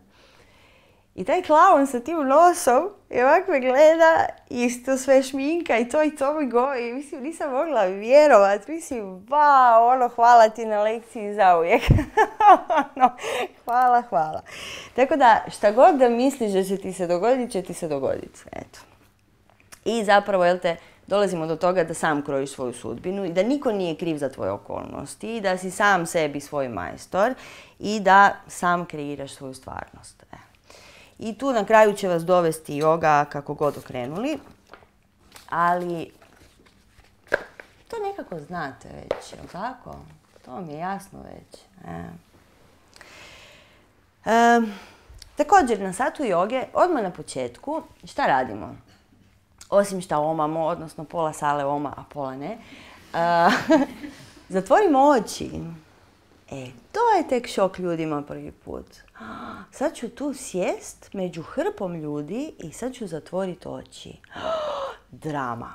S1: I taj klaun sa tim nosom i ovako me gleda i to sve šminka i to i to mi govori. I mislim, nisam mogla vjerovat. Mislim, wow, ono, hvala ti na lekciji zauvijek. no, hvala, hvala. Tako da, šta god da misliš da će ti se dogoditi, će ti se dogoditi. Eto. I zapravo, jel te, dolazimo do toga da sam krojiš svoju sudbinu i da niko nije kriv za tvoje okolnosti i da si sam sebi svoj majstor i da sam kreiraš svoju stvarnost. E. I tu na kraju će vas dovesti yoga kako god okrenuli, ali to nekako znate već, jel tako? To vam je jasno već. E. E, također na satu joge, odmah na početku, šta radimo? Osim šta omamo, odnosno pola sale oma, a pola ne. Uh, zatvorimo oči. E, to je tek šok ljudima prvi put. Sad ću tu sjest među hrpom ljudi i sad ću zatvoriti oči. Drama.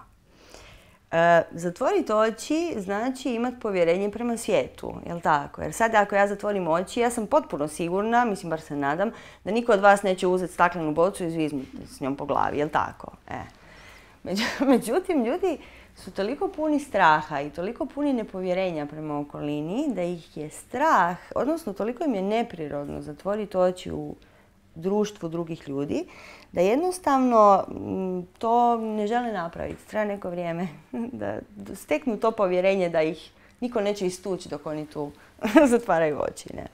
S1: Uh, zatvoriti oči znači imati povjerenje prema svijetu, jel tako? Jer sad ako ja zatvorim oči, ja sam potpuno sigurna, mislim bar se nadam, da niko od vas neće uzeti staklenu bocu i zviznuti s njom po glavi, jel tako? E. Međutim, ljudi su toliko puni straha i toliko puni nepovjerenja prema okolini da ih je strah, odnosno toliko im je neprirodno zatvoriti oči u društvu drugih ljudi, da jednostavno to ne žele napraviti. Treba neko vrijeme da steknu to povjerenje da ih niko neće istući dok oni tu zatvaraju oči. Ne?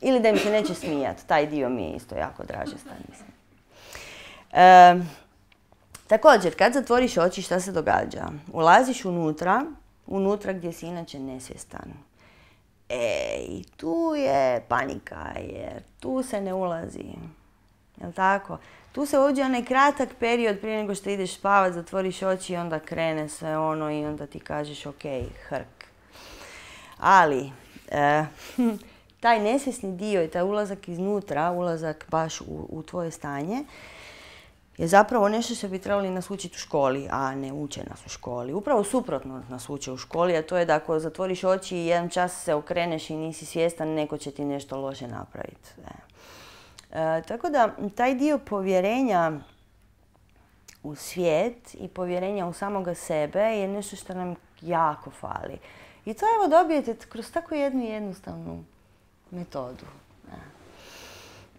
S1: Ili da im se neće smijati. Taj dio mi je isto jako dražestan, mislim. E, Također, kad zatvoriš oči, šta se događa? Ulaziš unutra, unutra gdje si inače nesvjestan. E, i tu je panika, jer tu se ne ulazi. Jel' tako? Tu se uđe onaj kratak period prije nego što ideš spavat, zatvoriš oči i onda krene sve ono i onda ti kažeš ok, hrk. Ali, e, taj nesvjesni dio i taj ulazak iznutra, ulazak baš u, u tvoje stanje, je zapravo nešto što bi trebali nas učiti u školi, a ne uče nas u školi. Upravo suprotno nas uče u školi, a to je da ako zatvoriš oči i jedan čas se okreneš i nisi svjestan, neko će ti nešto loše napraviti. E. E, tako da, taj dio povjerenja u svijet i povjerenja u samoga sebe je nešto što nam jako fali. I to evo dobijete kroz tako jednu jednostavnu metodu. E.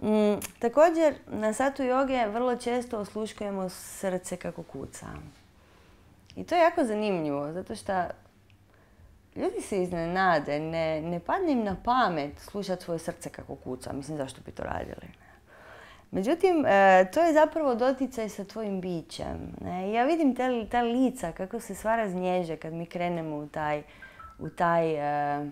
S1: Mm, također, na satu joge vrlo često osluškujemo srce kako kuca. I to je jako zanimljivo, zato što ljudi se iznenade, ne, ne padne im na pamet slušati svoje srce kako kuca. Mislim, zašto bi to radili? Međutim, e, to je zapravo doticaj sa tvojim bićem. Ne? Ja vidim te, ta lica kako se sva raznježe kad mi krenemo u taj, u taj, e,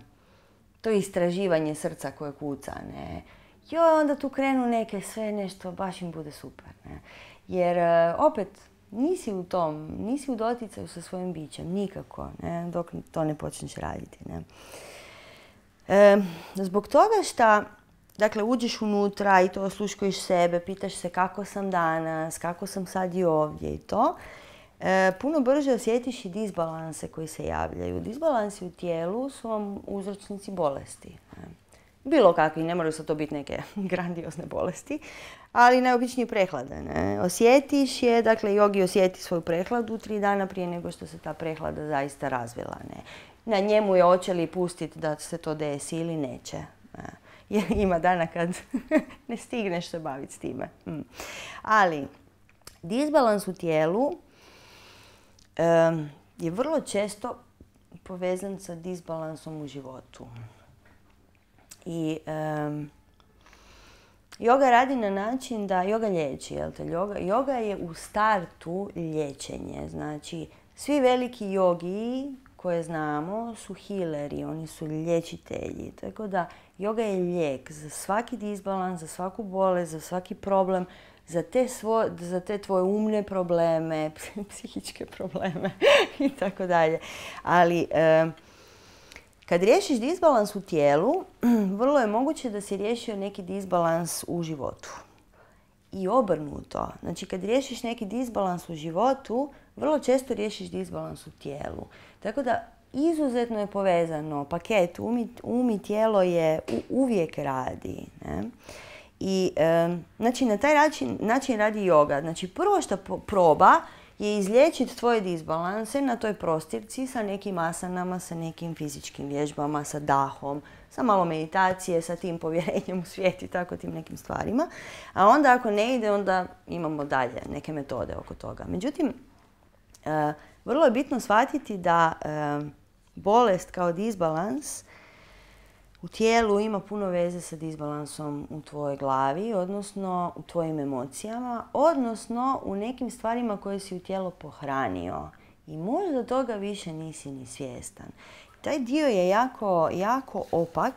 S1: to istraživanje srca koje kuca. Ne? Jo, onda tu krenu neke sve nešto, baš im bude super. Ne? Jer e, opet, nisi u tom, nisi u doticaju sa svojim bićem, nikako, ne? Dok to ne počneš raditi. Ne? E, zbog toga što, dakle, uđeš unutra i to osluškuješ sebe, pitaš se kako sam danas, kako sam sad i ovdje i to, e, puno brže osjetiš i disbalanse koji se javljaju. Disbalansi u tijelu su vam uzročnici bolesti. Ne? Bilo kakvi, ne moraju sad to biti neke grandiozne bolesti, ali najobičnije prehlade. Ne? Osjetiš je, dakle, jogi osjeti svoju prehladu tri dana prije nego što se ta prehlada zaista razvila. Ne? Na njemu je hoće li pustiti da se to desi ili neće. Ne? Jer ima dana kad ne stigneš se baviti s time. Hmm. Ali, disbalans u tijelu um, je vrlo često povezan sa disbalansom u životu. I um, joga radi na način da joga liječi. Jel te? Joga, joga je u startu liječenje. Znači, svi veliki jogi koje znamo su healeri, oni su liječitelji. Tako da yoga je lijek za svaki disbalans, za svaku bolest, za svaki problem, za te, svo, za te tvoje umne probleme, psihičke probleme i tako dalje. Ali e, kad riješiš disbalans u tijelu, vrlo je moguće da si riješio neki disbalans u životu. I obrnuto. Znači, kad riješiš neki disbalans u životu, vrlo često riješiš disbalans u tijelu. Tako da, izuzetno je povezano. Paket um i, um i tijelo je u, uvijek radi. Ne? I, e, znači, na taj način, način radi yoga. Znači, prvo što proba je izliječiti tvoje disbalanse na toj prostirci sa nekim asanama, sa nekim fizičkim vježbama, sa dahom, sa malo meditacije, sa tim povjerenjem u svijet i tako tim nekim stvarima. A onda ako ne ide, onda imamo dalje neke metode oko toga. Međutim, e, vrlo je bitno shvatiti da e, bolest kao disbalans u tijelu ima puno veze sa disbalansom u tvojoj glavi, odnosno u tvojim emocijama, odnosno u nekim stvarima koje si u tijelo pohranio. I možda toga više nisi ni svjestan. Taj dio je jako, jako opak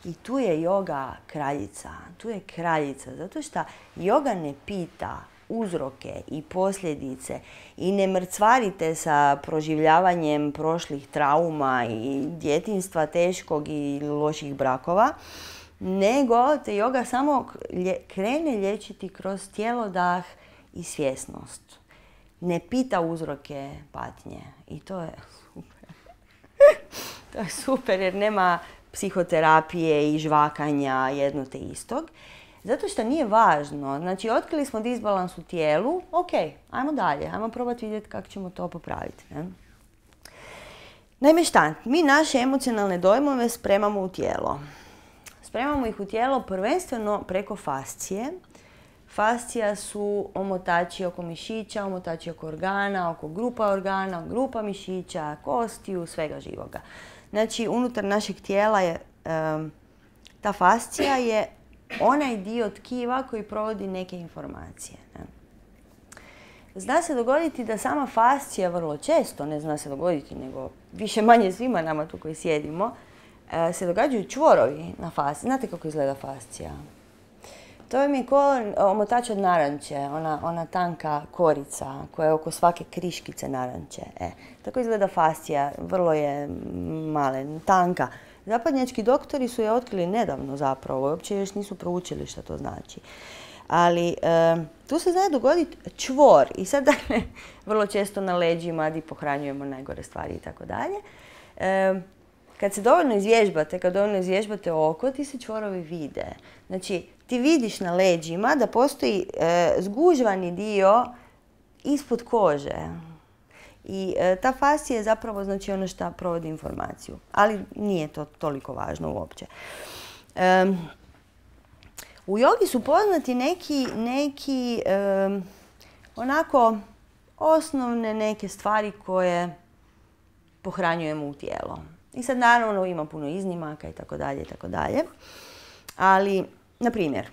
S1: i tu je yoga kraljica. Tu je kraljica, zato što yoga ne pita uzroke i posljedice i ne mrcvarite sa proživljavanjem prošlih trauma i djetinjstva teškog i loših brakova, nego te yoga samo krene liječiti kroz tijelo, dah i svjesnost. Ne pita uzroke patnje i to je super. To je super jer nema psihoterapije i žvakanja jedno te istog. Zato što nije važno. Znači, otkrili smo disbalans u tijelu, ok, ajmo dalje, ajmo probati vidjeti kako ćemo to popraviti. Ne? Naime šta, mi naše emocionalne dojmove spremamo u tijelo. Spremamo ih u tijelo prvenstveno preko fascije. Fascija su omotači oko mišića, omotači oko organa, oko grupa organa, grupa mišića, kostiju, svega živoga. Znači, unutar našeg tijela je, um, ta fascija je onaj dio tkiva koji provodi neke informacije. Ne? Zna se dogoditi da sama fascija vrlo često, ne zna se dogoditi, nego više manje svima nama tu koji sjedimo, se događaju čvorovi na fasciji. Znate kako izgleda fascija? To je mi ko omotač od naranče, ona, ona tanka korica koja je oko svake kriškice naranče. E, tako izgleda fascija, vrlo je malen, tanka. Zapadnjački doktori su je otkrili nedavno zapravo, uopće još nisu proučili što to znači. Ali e, tu se zna dogoditi čvor i sad dakle, vrlo često na leđima gdje pohranjujemo najgore stvari i tako dalje. Kad se dovoljno izvježbate, kad dovoljno izvježbate oko, ti se čvorovi vide. Znači, ti vidiš na leđima da postoji e, zgužvani dio ispod kože. I e, ta fascija je zapravo znači ono što provodi informaciju. Ali nije to toliko važno uopće. E, u jogi su poznati neki, neki e, onako osnovne neke stvari koje pohranjujemo u tijelo. I sad naravno ima puno iznimaka i tako dalje i tako dalje. Ali, na primjer,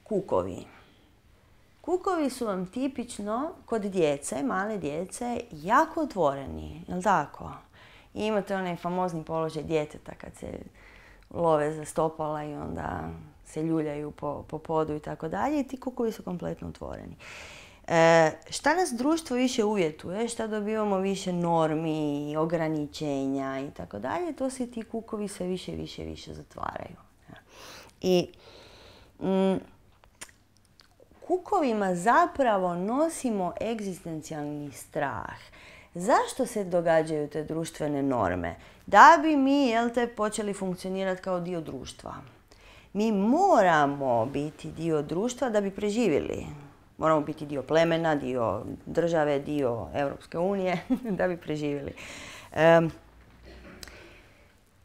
S1: kukovi. Kukovi su vam tipično kod djece, male djece, jako otvoreni, jel' tako? I imate onaj famozni položaj djeteta kad se love za stopala i onda se ljuljaju po, po podu i tako dalje. I ti kukovi su kompletno otvoreni. E, šta nas društvo više uvjetuje, šta dobivamo više normi, ograničenja i tako dalje, to se ti kukovi sve više i više više zatvaraju. I mm, kukovima zapravo nosimo egzistencijalni strah. Zašto se događaju te društvene norme? Da bi mi, jel te, počeli funkcionirati kao dio društva. Mi moramo biti dio društva da bi preživjeli. Moramo biti dio plemena, dio države, dio Europske unije da bi preživjeli. Um,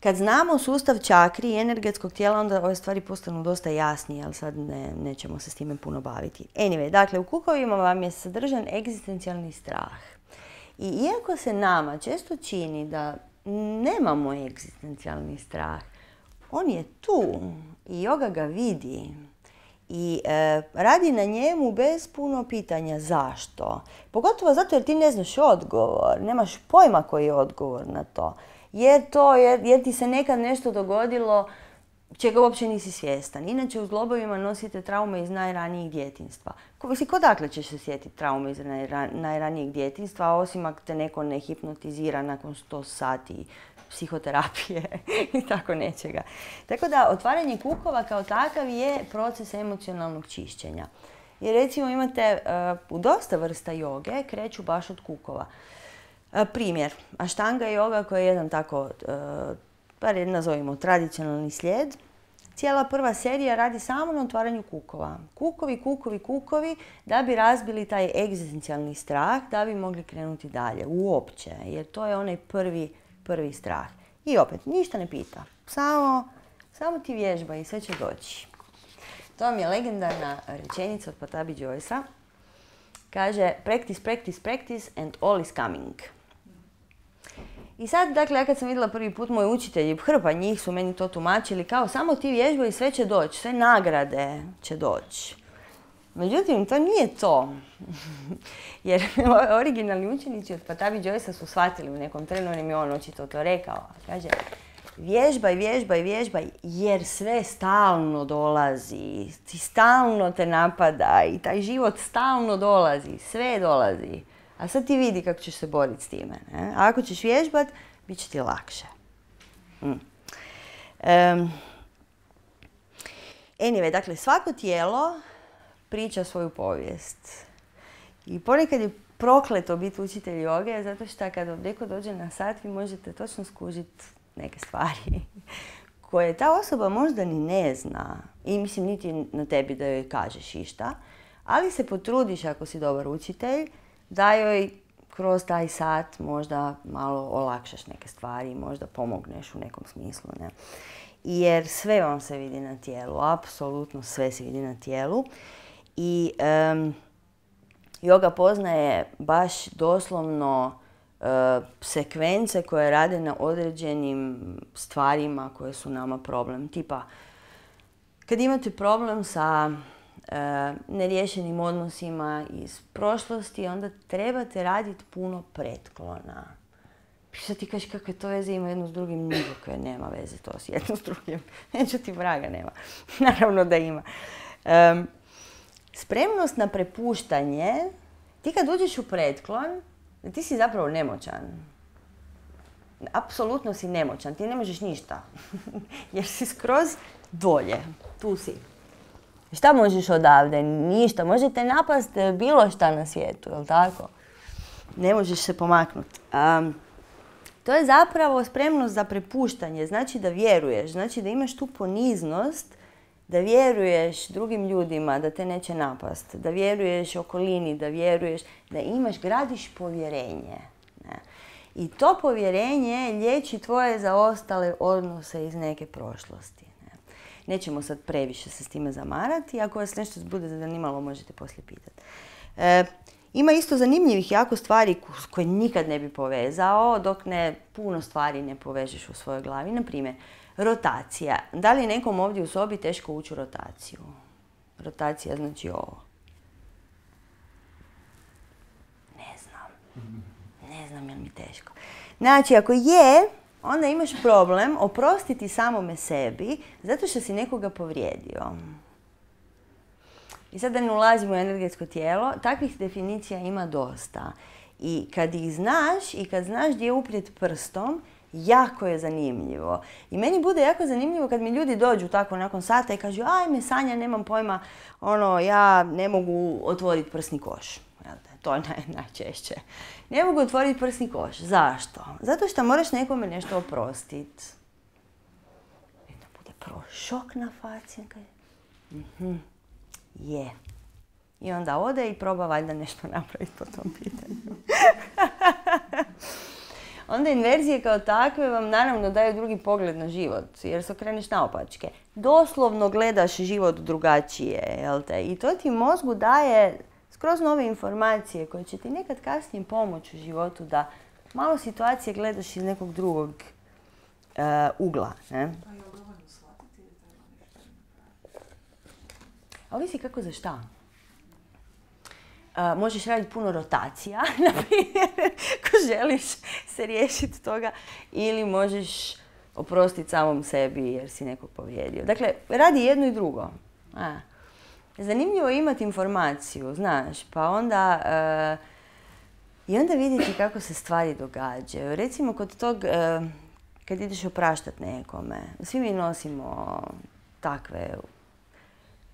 S1: kad znamo sustav čakri i energetskog tijela, onda ove stvari postanu dosta jasnije, ali sad ne, nećemo se s time puno baviti. Anyway, dakle, u kukovima vam je sadržan egzistencijalni strah. I iako se nama često čini da nemamo egzistencijalni strah, on je tu i yoga ga vidi. I e, radi na njemu bez puno pitanja zašto. Pogotovo zato jer ti ne znaš odgovor, nemaš pojma koji je odgovor na to. Jer, to, jer, jer ti se nekad nešto dogodilo čega uopće nisi svjestan. Inače u zglobovima nosite traume iz najranijih djetinjstva. Mislim, kodakle ćeš se sjetiti traume iz najranijeg djetinjstva, osim ako te neko ne hipnotizira nakon sto sati psihoterapije i tako nečega. Tako da otvaranje kukova kao takav je proces emocionalnog čišćenja. Jer recimo imate uh, u dosta vrsta joge kreću baš od kukova. Uh, primjer, Ashtanga joga koja je jedan tako, uh, bar nazovimo, tradicionalni slijed. Cijela prva serija radi samo na otvaranju kukova. Kukovi, kukovi, kukovi, da bi razbili taj egzistencijalni strah, da bi mogli krenuti dalje, uopće. Jer to je onaj prvi, prvi strah. I opet, ništa ne pita. Samo, samo ti vježba i sve će doći. To vam je legendarna rečenica od Patabi Joycea. Kaže, practice, practice, practice and all is coming. I sad, dakle, ja kad sam vidjela prvi put moji učitelji, hrpa njih su meni to tumačili kao samo ti vježbaj i sve će doći, sve nagrade će doći. Međutim, to nije to. Jer originalni učenici od Patabi Joycea su shvatili u nekom trenu, on im je on očito to rekao. Kaže, vježbaj, vježbaj, vježbaj, jer sve stalno dolazi. Ti stalno te napada i taj život stalno dolazi, sve dolazi. A sad ti vidi kako ćeš se boriti s time. Ne? A ako ćeš vježbat, bit će ti lakše. Mm. Um, anyway, dakle, svako tijelo priča svoju povijest. I ponekad je prokleto biti učitelj joge, zato što kada neko dođe na sat, vi možete točno skužiti neke stvari koje ta osoba možda ni ne zna. I mislim, niti na tebi da joj kažeš išta, ali se potrudiš ako si dobar učitelj, da joj kroz taj sat možda malo olakšaš neke stvari, možda pomogneš u nekom smislu. Ne? Jer sve vam se vidi na tijelu, apsolutno sve se vidi na tijelu. I um, joga poznaje baš doslovno uh, sekvence koje rade na određenim stvarima koje su nama problem. Tipa, kad imate problem sa Uh, neriješenim odnosima iz prošlosti, onda trebate raditi puno pretklona. Sad ti kažeš kakve to veze ima jedno s drugim, nikakve nema veze to s jedno s drugim. Neću ti vraga nema. Naravno da ima. Um, spremnost na prepuštanje, ti kad uđeš u pretklon, ti si zapravo nemoćan. Apsolutno si nemoćan, ti ne možeš ništa. Jer si skroz dolje, tu si. Šta možeš odavde? Ništa. Možete napast bilo šta na svijetu, jel tako? Ne možeš se pomaknuti. Um, to je zapravo spremnost za prepuštanje. Znači da vjeruješ, znači da imaš tu poniznost, da vjeruješ drugim ljudima da te neće napast, da vjeruješ okolini, da vjeruješ, da imaš, gradiš povjerenje. Ne? I to povjerenje liječi tvoje zaostale odnose iz neke prošlosti. Nećemo sad previše se s time zamarati. Ako vas nešto bude zanimalo, možete poslije pitati. E, ima isto zanimljivih jako stvari koje nikad ne bi povezao, dok ne puno stvari ne povežeš u svojoj glavi. Naprimjer, rotacija. Da li je nekom ovdje u sobi teško ući u rotaciju? Rotacija znači ovo. Ne znam. Ne znam je li mi teško. Znači, ako je, onda imaš problem oprostiti samome sebi zato što si nekoga povrijedio. I sad da ne ulazimo u energetsko tijelo, takvih definicija ima dosta. I kad ih znaš i kad znaš gdje je uprijet prstom, jako je zanimljivo. I meni bude jako zanimljivo kad mi ljudi dođu tako nakon sata i kažu ajme Sanja, nemam pojma, ono, ja ne mogu otvoriti prsni koš. To je naj, najčešće. Ne mogu otvoriti prsni koš. Zašto? Zato što moraš nekome nešto oprostiti. I da bude prvo šok na faci. Mhm. Je. I onda ode i proba valjda nešto napraviti po tom pitanju. Onda inverzije kao takve vam naravno daju drugi pogled na život, jer se okreneš naopačke. Doslovno gledaš život drugačije, jel te? I to ti mozgu daje skroz nove informacije koje će ti nekad kasnije pomoći u životu da malo situacije gledaš iz nekog drugog uh, ugla. Ne? A ovisi kako za šta. Uh, možeš raditi puno rotacija, na primjer, ako želiš se riješiti toga, ili možeš oprostiti samom sebi jer si nekog povrijedio. Dakle, radi jedno i drugo. A. Zanimljivo je imati informaciju, znaš, pa onda uh, i onda vidjeti kako se stvari događaju. Recimo, kod tog, uh, kad ideš opraštati nekome, svi mi nosimo takve,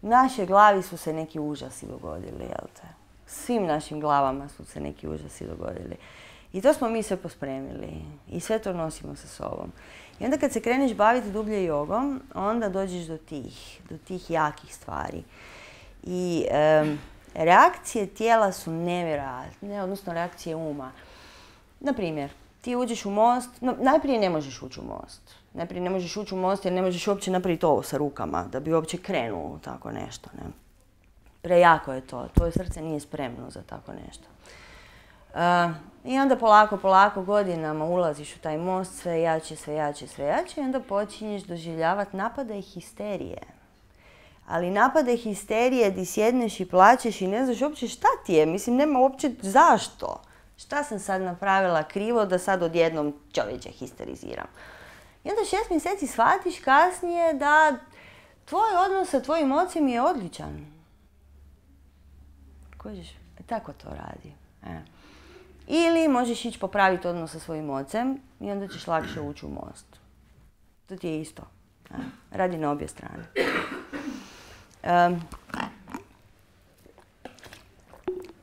S1: u našoj glavi su se neki užasi dogodili, jel te? Svim našim glavama su se neki užasi dogodili. I to smo mi sve pospremili i sve to nosimo sa sobom. I onda kad se kreneš baviti dublje jogom, onda dođeš do tih, do tih jakih stvari. I um, reakcije tijela su nevjerojatne, odnosno reakcije uma. Naprimjer, ti uđeš u most, no, najprije ne možeš ući u most. Najprije ne možeš ući u most jer ne možeš uopće napraviti ovo sa rukama, da bi uopće krenuo tako nešto. Ne? Prejako je to, tvoje srce nije spremno za tako nešto. Uh, I onda polako, polako godinama ulaziš u taj most, sve jače, sve jače, sve jače i onda počinješ doživljavati napade i histerije. Ali napade histerije di sjedneš i plačeš i ne znaš uopće šta ti je, mislim nema uopće zašto. Šta sam sad napravila krivo da sad odjednom čovječe histeriziram. I onda šest mjeseci shvatiš kasnije da tvoj odnos sa tvojim ocem je odličan. Kožiš? E, tako to radi. E. Ili možeš ići popraviti odnos sa svojim ocem i onda ćeš lakše ući u most. To ti je isto. E. Radi na obje strane. Um,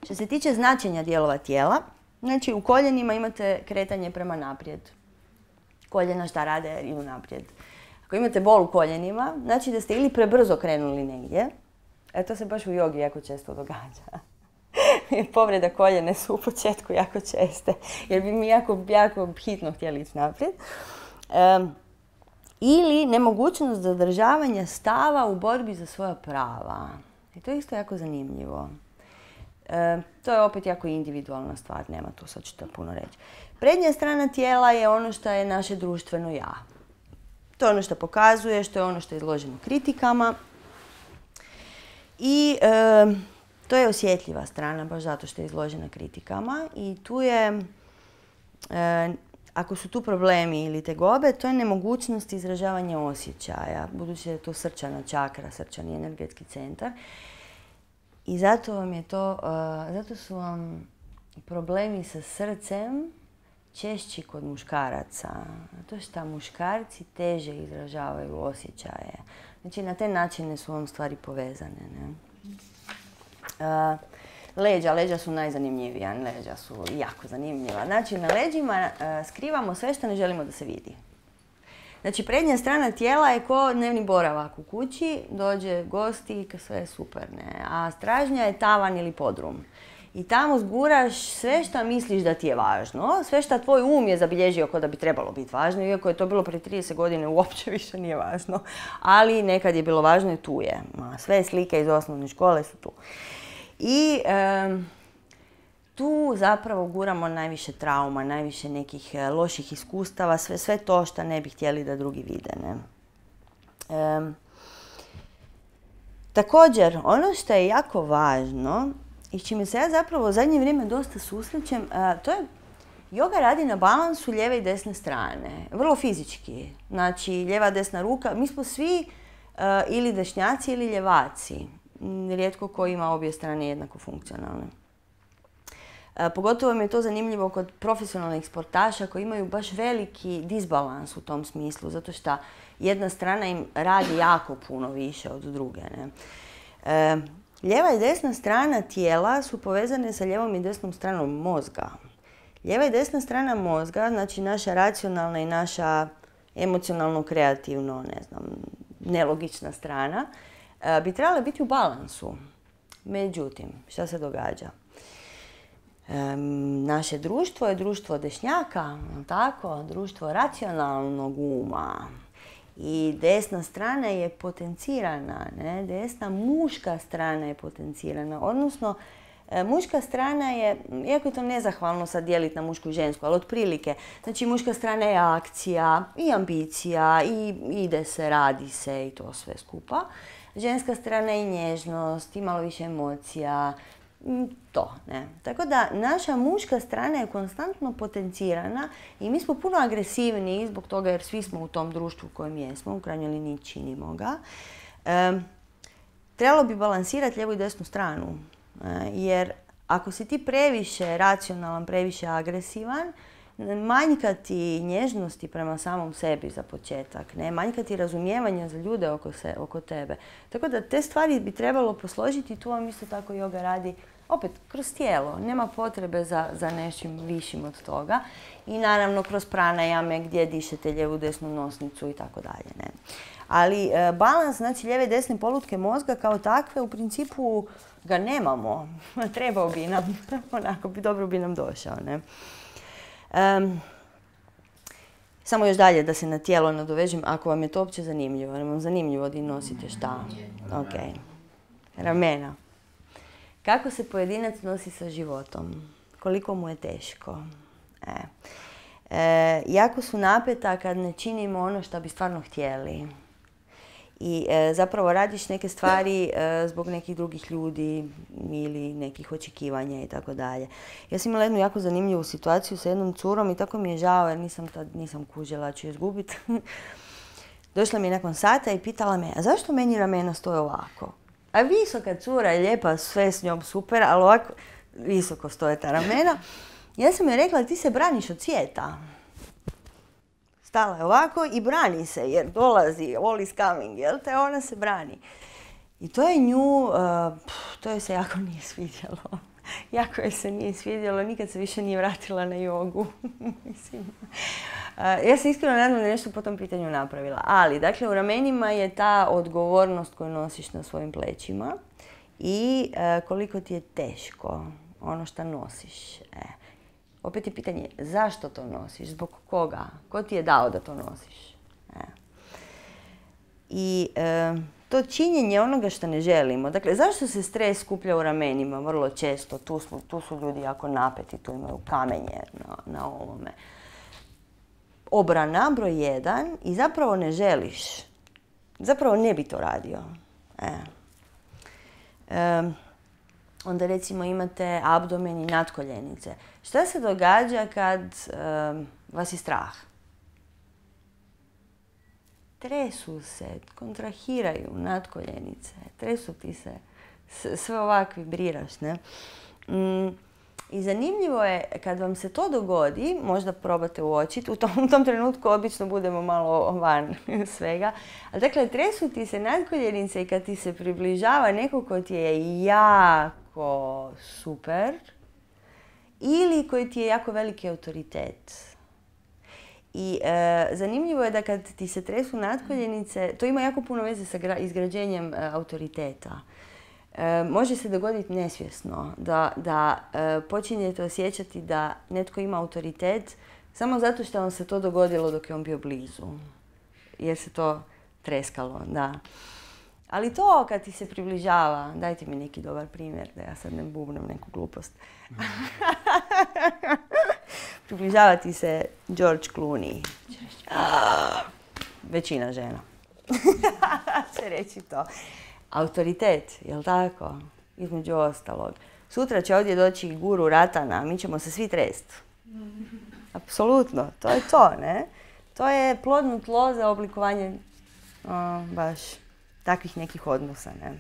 S1: što se tiče značenja dijelova tijela, znači u koljenima imate kretanje prema naprijed. Koljena šta rade? Idu naprijed. Ako imate bol u koljenima, znači da ste ili prebrzo krenuli negdje, e to se baš u jogi jako često događa. Povreda koljene su u početku jako česte, jer bi mi jako, jako hitno htjeli ići naprijed. Um, ili nemogućnost zadržavanja stava u borbi za svoja prava. I to je isto jako zanimljivo. E, to je opet jako individualna stvar, nema tu sad što puno reći. Prednja strana tijela je ono što je naše društveno ja. To je ono što pokazuje, što je ono što je izloženo kritikama. I e, to je osjetljiva strana, baš zato što je izložena kritikama. I tu je, e, ako su tu problemi ili tegobe, to je nemogućnost izražavanja osjećaja, budući da je to srčana čakra, srčani energetski centar. I zato vam je to, uh, zato su vam problemi sa srcem češći kod muškaraca. Zato što muškarci teže izražavaju osjećaje. Znači na te načine su vam stvari povezane. Ne? Uh, leđa, leđa su najzanimljivija, leđa su jako zanimljiva. Znači na leđima uh, skrivamo sve što ne želimo da se vidi. Znači, prednja strana tijela je ko dnevni boravak u kući, dođe gosti i sve je super, ne? A stražnja je tavan ili podrum. I tamo zguraš sve što misliš da ti je važno, sve što tvoj um je zabilježio kao da bi trebalo biti važno, iako je to bilo prije trideset godine, uopće više nije važno. Ali nekad je bilo važno i tu je. Sve slike iz osnovne škole su tu. I um, tu zapravo guramo najviše trauma, najviše nekih loših iskustava, sve, sve to što ne bi htjeli da drugi vide. Ne? E, također, ono što je jako važno i s čime se ja zapravo u zadnje vrijeme dosta susrećem, a, to je joga radi na balansu lijeve i desne strane, vrlo fizički. Znači, lijeva desna ruka, mi smo svi a, ili dešnjaci ili ljevaci, rijetko ko ima obje strane jednako funkcionalne. E, pogotovo mi je to zanimljivo kod profesionalnih sportaša koji imaju baš veliki disbalans u tom smislu, zato što jedna strana im radi jako puno više od druge. Ne? E, lijeva i desna strana tijela su povezane sa lijevom i desnom stranom mozga. Lijeva i desna strana mozga, znači naša racionalna i naša emocionalno-kreativno, ne znam, nelogična strana, e, bi trebale biti u balansu. Međutim, šta se događa? Um, naše društvo je društvo dešnjaka, tako, društvo racionalnog uma. I desna strana je potencirana, ne? Desna muška strana je potencirana. Odnosno, e, muška strana je, iako je to nezahvalno sad dijeliti na mušku i žensku, ali otprilike, znači muška strana je akcija i ambicija i ide se, radi se i to sve skupa. ženska strana i nježnost, i malo više emocija, to, ne. Tako da naša muška strana je konstantno potencirana i mi smo puno agresivniji zbog toga jer svi smo u tom društvu u kojem jesmo, u krajnjoj liniji činimo ga. E, trebalo bi balansirati lijevu i desnu stranu, e, jer ako si ti previše racionalan, previše agresivan, manjka ti nježnosti prema samom sebi za početak, ne? Manjka ti razumijevanja za ljude oko, se, oko tebe. Tako da te stvari bi trebalo posložiti i tu vam isto tako yoga radi opet kroz tijelo. Nema potrebe za, za nečim višim od toga. I naravno kroz pranajame gdje dišete lijevu desnu nosnicu i tako dalje. Ne? Ali e, balans, znači lijeve i desne polutke mozga kao takve u principu ga nemamo. Trebao bi nam, onako bi dobro bi nam došao. Ne? Um, samo još dalje da se na tijelo nadovežem, ako vam je to uopće zanimljivo. Jer vam zanimljivo da nosite šta? Ok. Ramena. Kako se pojedinac nosi sa životom? Koliko mu je teško? E. E, jako su napeta kad ne činimo ono što bi stvarno htjeli. I e, zapravo radiš neke stvari e, zbog nekih drugih ljudi ili nekih očekivanja i tako dalje. Ja sam imala jednu jako zanimljivu situaciju sa jednom curom i tako mi je žao jer nisam tad nisam kužila ću je izgubiti. Došla mi je nakon sata i pitala me, a zašto meni ramena stoje ovako? A visoka cura je lijepa, sve s njom super, ali ovako visoko stoje ta ramena. Ja sam joj rekla, ti se braniš od svijeta. Stala je ovako i brani se jer dolazi, all is coming, jel te? Ona se brani. I to je nju, uh, to joj se jako nije svidjelo. Jako joj se nije svidjelo, nikad se više nije vratila na jogu. Mislim. Uh, ja se iskreno nadam da nešto po tom pitanju napravila. Ali, dakle, u ramenima je ta odgovornost koju nosiš na svojim plećima i uh, koliko ti je teško ono što nosiš. E. Opet je pitanje, zašto to nosiš? Zbog koga? Ko ti je dao da to nosiš? E. I e, to činjenje onoga što ne želimo. Dakle, zašto se stres skuplja u ramenima vrlo često? Tu, smo, tu su ljudi jako napeti, tu imaju kamenje na, na ovome. Obrana, broj jedan, i zapravo ne želiš. Zapravo ne bi to radio. E. E, Onda recimo imate abdomen i natkoljenice. Šta se događa kad um, vas je strah? Tresu se, kontrahiraju natkoljenice, tresu ti se, sve ovak vibriraš, ne? Mm, I zanimljivo je kad vam se to dogodi, možda probate uočiti, u tom, u tom trenutku obično budemo malo van svega, ali dakle tresu ti se natkoljenice i kad ti se približava neko ko ti je jako super ili koji ti je jako veliki autoritet. I e, zanimljivo je da kad ti se tresu natkoljenice, to ima jako puno veze sa gra, izgrađenjem e, autoriteta. E, može se dogoditi nesvjesno da, da e, počinjete osjećati da netko ima autoritet samo zato što vam se to dogodilo dok je on bio blizu. Jer se to treskalo, da. Ali to kad ti se približava, dajte mi neki dobar primjer da ja sad ne bubnem neku glupost. Približava ti se George Clooney. Većina žena će reći to. Autoritet, jel tako? Između ostalog. Sutra će ovdje doći guru Ratana, mi ćemo se svi trest. Apsolutno, to je to, ne? To je plodno tlo za oblikovanje o, baš takvih nekih odnosa, ne?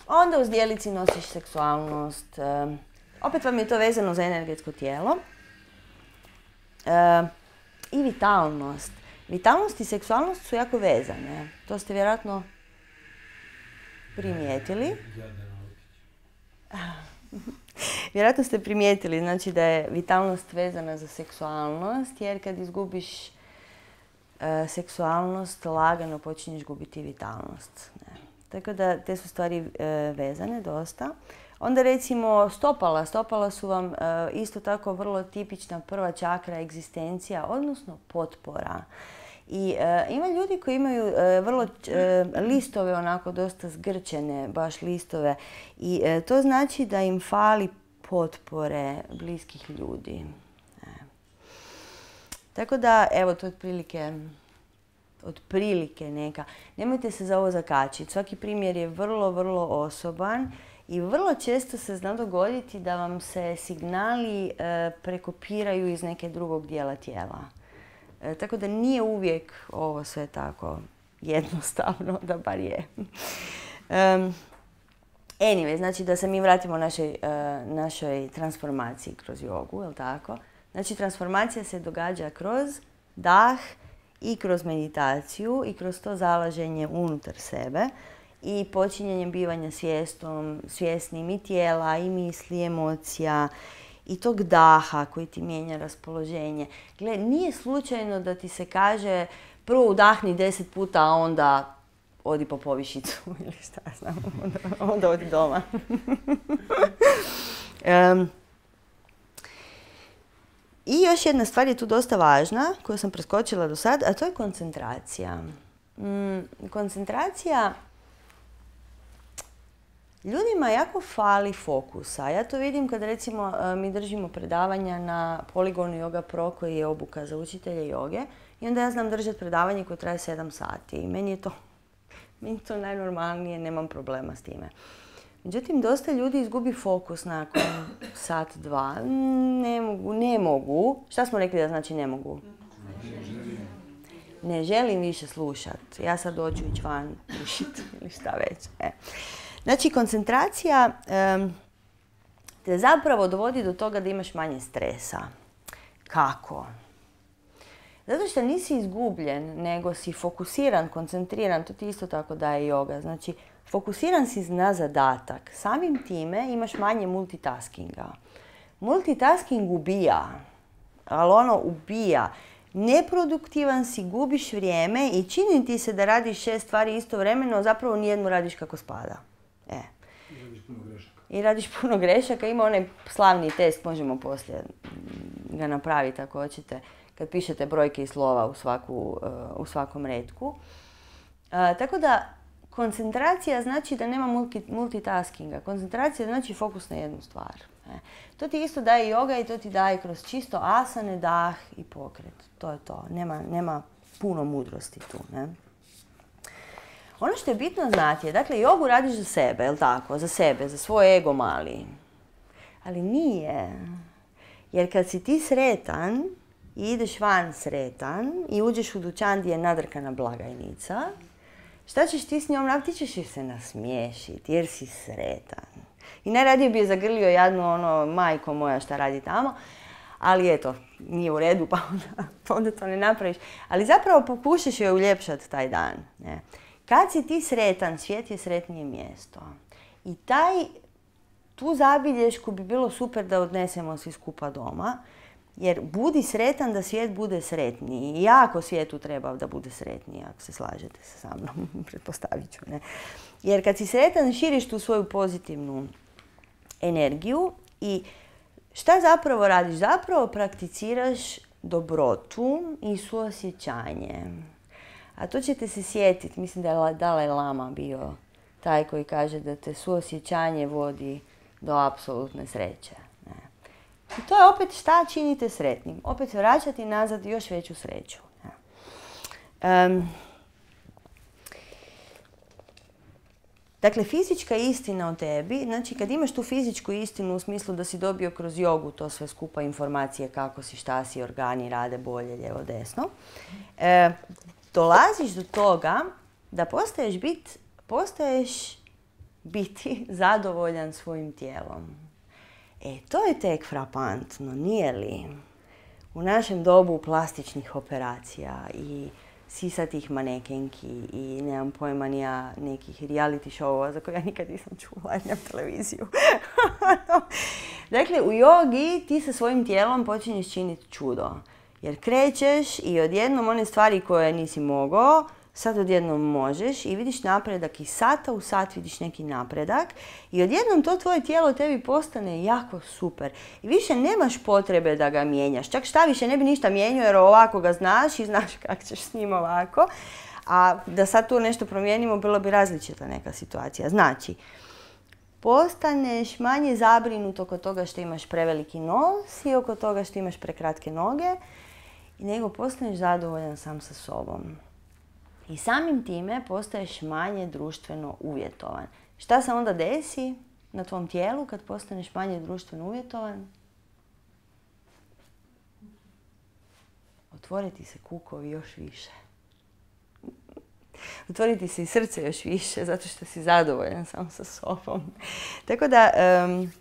S1: Onda u zdjelici nosiš seksualnost. E, opet vam je to vezano za energetsko tijelo. E, I vitalnost. Vitalnost i seksualnost su jako vezane. To ste vjerojatno primijetili. Vjerojatno ste primijetili, znači da je vitalnost vezana za seksualnost, jer kad izgubiš e, seksualnost, lagano počinješ gubiti vitalnost. Ne. Tako da te su stvari e, vezane dosta. Onda recimo stopala. Stopala su vam e, isto tako vrlo tipična prva čakra egzistencija, odnosno potpora. I e, ima ljudi koji imaju e, vrlo e, listove onako dosta zgrčene, baš listove. I e, to znači da im fali potpore bliskih ljudi. E. Tako da, evo, to je otprilike otprilike neka. Nemojte se za ovo zakačiti. Svaki primjer je vrlo, vrlo osoban i vrlo često se zna dogoditi da vam se signali e, prekopiraju iz neke drugog dijela tijela. E, tako da nije uvijek ovo sve tako jednostavno, da bar je. Um, anyway, znači da se mi vratimo našoj, uh, našoj transformaciji kroz jogu, je li tako? Znači transformacija se događa kroz dah i kroz meditaciju i kroz to zalaženje unutar sebe i počinjenjem bivanja svjestom, svjesnim i tijela, i misli, emocija i tog daha koji ti mijenja raspoloženje. Gle, nije slučajno da ti se kaže prvo udahni deset puta, a onda odi po povišicu ili šta znam, onda, onda odi doma. um, I još jedna stvar je tu dosta važna, koju sam preskočila do sad, a to je koncentracija. Mm, koncentracija, ljudima jako fali fokusa. Ja to vidim kad recimo mi držimo predavanja na Poligonu Yoga Pro koji je obuka za učitelje joge i onda ja znam držati predavanje koje traje sedam sati i meni je to, meni je to najnormalnije, nemam problema s time. Međutim, dosta ljudi izgubi fokus nakon sat, dva. Ne mogu, ne mogu. Šta smo rekli da znači ne mogu? Ne želim više slušati. Ja sad doću ići van, pušiti ili šta već. E. Znači, koncentracija um, te zapravo dovodi do toga da imaš manje stresa. Kako? Zato što nisi izgubljen, nego si fokusiran, koncentriran. To ti isto tako daje joga. Znači, fokusiran si na zadatak. Samim time imaš manje multitaskinga. Multitasking ubija, ali ono ubija. Neproduktivan si, gubiš vrijeme i čini ti se da radiš šest stvari istovremeno, zapravo nijednu radiš kako spada. E.
S2: I radiš puno grešaka.
S1: I radiš puno grešaka. Ima onaj slavni test, možemo poslije ga napraviti ako hoćete, kad pišete brojke i slova u, svaku, u svakom retku. A, tako da, koncentracija znači da nema multi, multitaskinga. Koncentracija znači fokus na jednu stvar. E. To ti isto daje joga i to ti daje kroz čisto asane, dah i pokret. To je to. Nema, nema puno mudrosti tu. Ne? Ono što je bitno znati je, dakle, jogu radiš za sebe, je li tako? Za sebe, za svoj ego mali. Ali nije. Jer kad si ti sretan i ideš van sretan i uđeš u dućan gdje je nadrkana blagajnica, šta ćeš ti s njom napraviti? Ti ćeš se nasmiješiti jer si sretan. I najradije bi je zagrlio jadnu ono, majko moja šta radi tamo, ali eto, nije u redu pa onda, pa onda to ne napraviš. Ali zapravo pokušaš joj uljepšati taj dan. Ne? Kad si ti sretan, svijet je sretnije mjesto. I taj, tu zabilješku bi bilo super da odnesemo svi skupa doma. Jer budi sretan da svijet bude sretniji. I jako svijetu treba da bude sretniji, ako se slažete sa mnom, pretpostavit ću. Ne? Jer kad si sretan, širiš tu svoju pozitivnu energiju i šta zapravo radiš? Zapravo prakticiraš dobrotu i suosjećanje. A to ćete se sjetiti, mislim da je Dalaj Lama bio taj koji kaže da te suosjećanje vodi do apsolutne sreće. I to je opet šta činite sretnim. Opet vraćati nazad još veću sreću. Um, dakle, fizička istina o tebi, znači kad imaš tu fizičku istinu u smislu da si dobio kroz jogu to sve skupa informacije kako si, šta si, organi rade bolje, lijevo, desno, e, dolaziš do toga da postaješ, bit, postaješ biti zadovoljan svojim tijelom. E, to je tek frapantno, nije li? U našem dobu plastičnih operacija i sisatih manekenki i nemam pojma nija nekih reality showova za koje ja nikad nisam čula, jer nemam televiziju. Dakle, u jogi ti sa svojim tijelom počinješ činiti čudo. Jer krećeš i odjednom one stvari koje nisi mogao, sad odjednom možeš i vidiš napredak i sata u sat vidiš neki napredak i odjednom to tvoje tijelo tebi postane jako super. I više nemaš potrebe da ga mijenjaš. Čak šta više ne bi ništa mijenjao jer ovako ga znaš i znaš kako ćeš s njim ovako. A da sad tu nešto promijenimo bilo bi različita neka situacija. Znači, postaneš manje zabrinut oko toga što imaš preveliki nos i oko toga što imaš prekratke noge, nego postaneš zadovoljan sam sa sobom. I samim time postaješ manje društveno uvjetovan. Šta se onda desi na tvom tijelu kad postaneš manje društveno uvjetovan? Otvoriti se kukovi još više. Otvoriti se i srce još više, zato što si zadovoljan sam sa sobom. Tako da, um,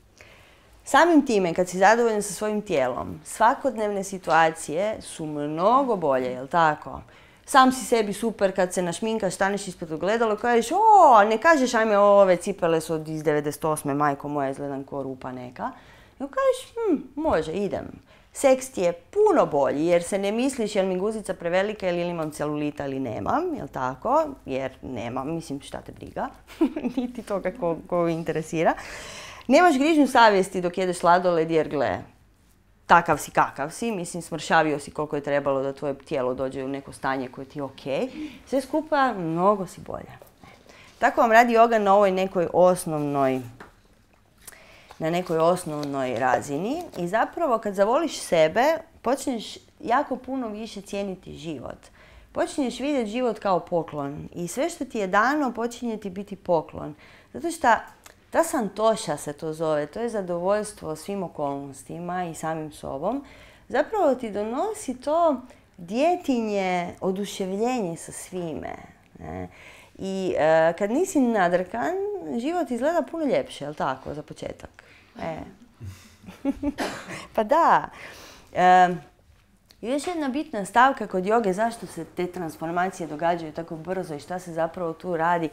S1: samim time, kad si zadovoljan sa svojim tijelom, svakodnevne situacije su mnogo bolje, jel tako? Sam si sebi super kad se našminkaš, staneš ispred ogledala i kažeš, o, ne kažeš, ajme, ove cipele su iz devedeset osme, majko moja, izgledam ko rupa neka. I kažeš, hm, može, idem. Seks ti je puno bolji jer se ne misliš jel mi guzica prevelika ili imam celulita ili nemam, jel tako? Jer nemam, mislim šta te briga, niti toga ko, ko interesira. Nemaš grižnju savjesti dok jedeš sladoled jer gle, takav si kakav si, mislim smršavio si koliko je trebalo da tvoje tijelo dođe u neko stanje koje ti je ok. Sve skupa mnogo si bolje. Tako vam radi joga na ovoj nekoj osnovnoj na nekoj osnovnoj razini i zapravo kad zavoliš sebe, počneš jako puno više cijeniti život. Počinješ vidjeti život kao poklon i sve što ti je dano počinje ti biti poklon. Zato što ta santoša se to zove, to je zadovoljstvo svim okolnostima i samim sobom. Zapravo ti donosi to djetinje oduševljenje sa svime. Ne? I e, kad nisi nadrkan, život izgleda puno ljepše, jel tako, za početak? E. Pa da. E, još jedna bitna stavka kod joge, zašto se te transformacije događaju tako brzo i šta se zapravo tu radi.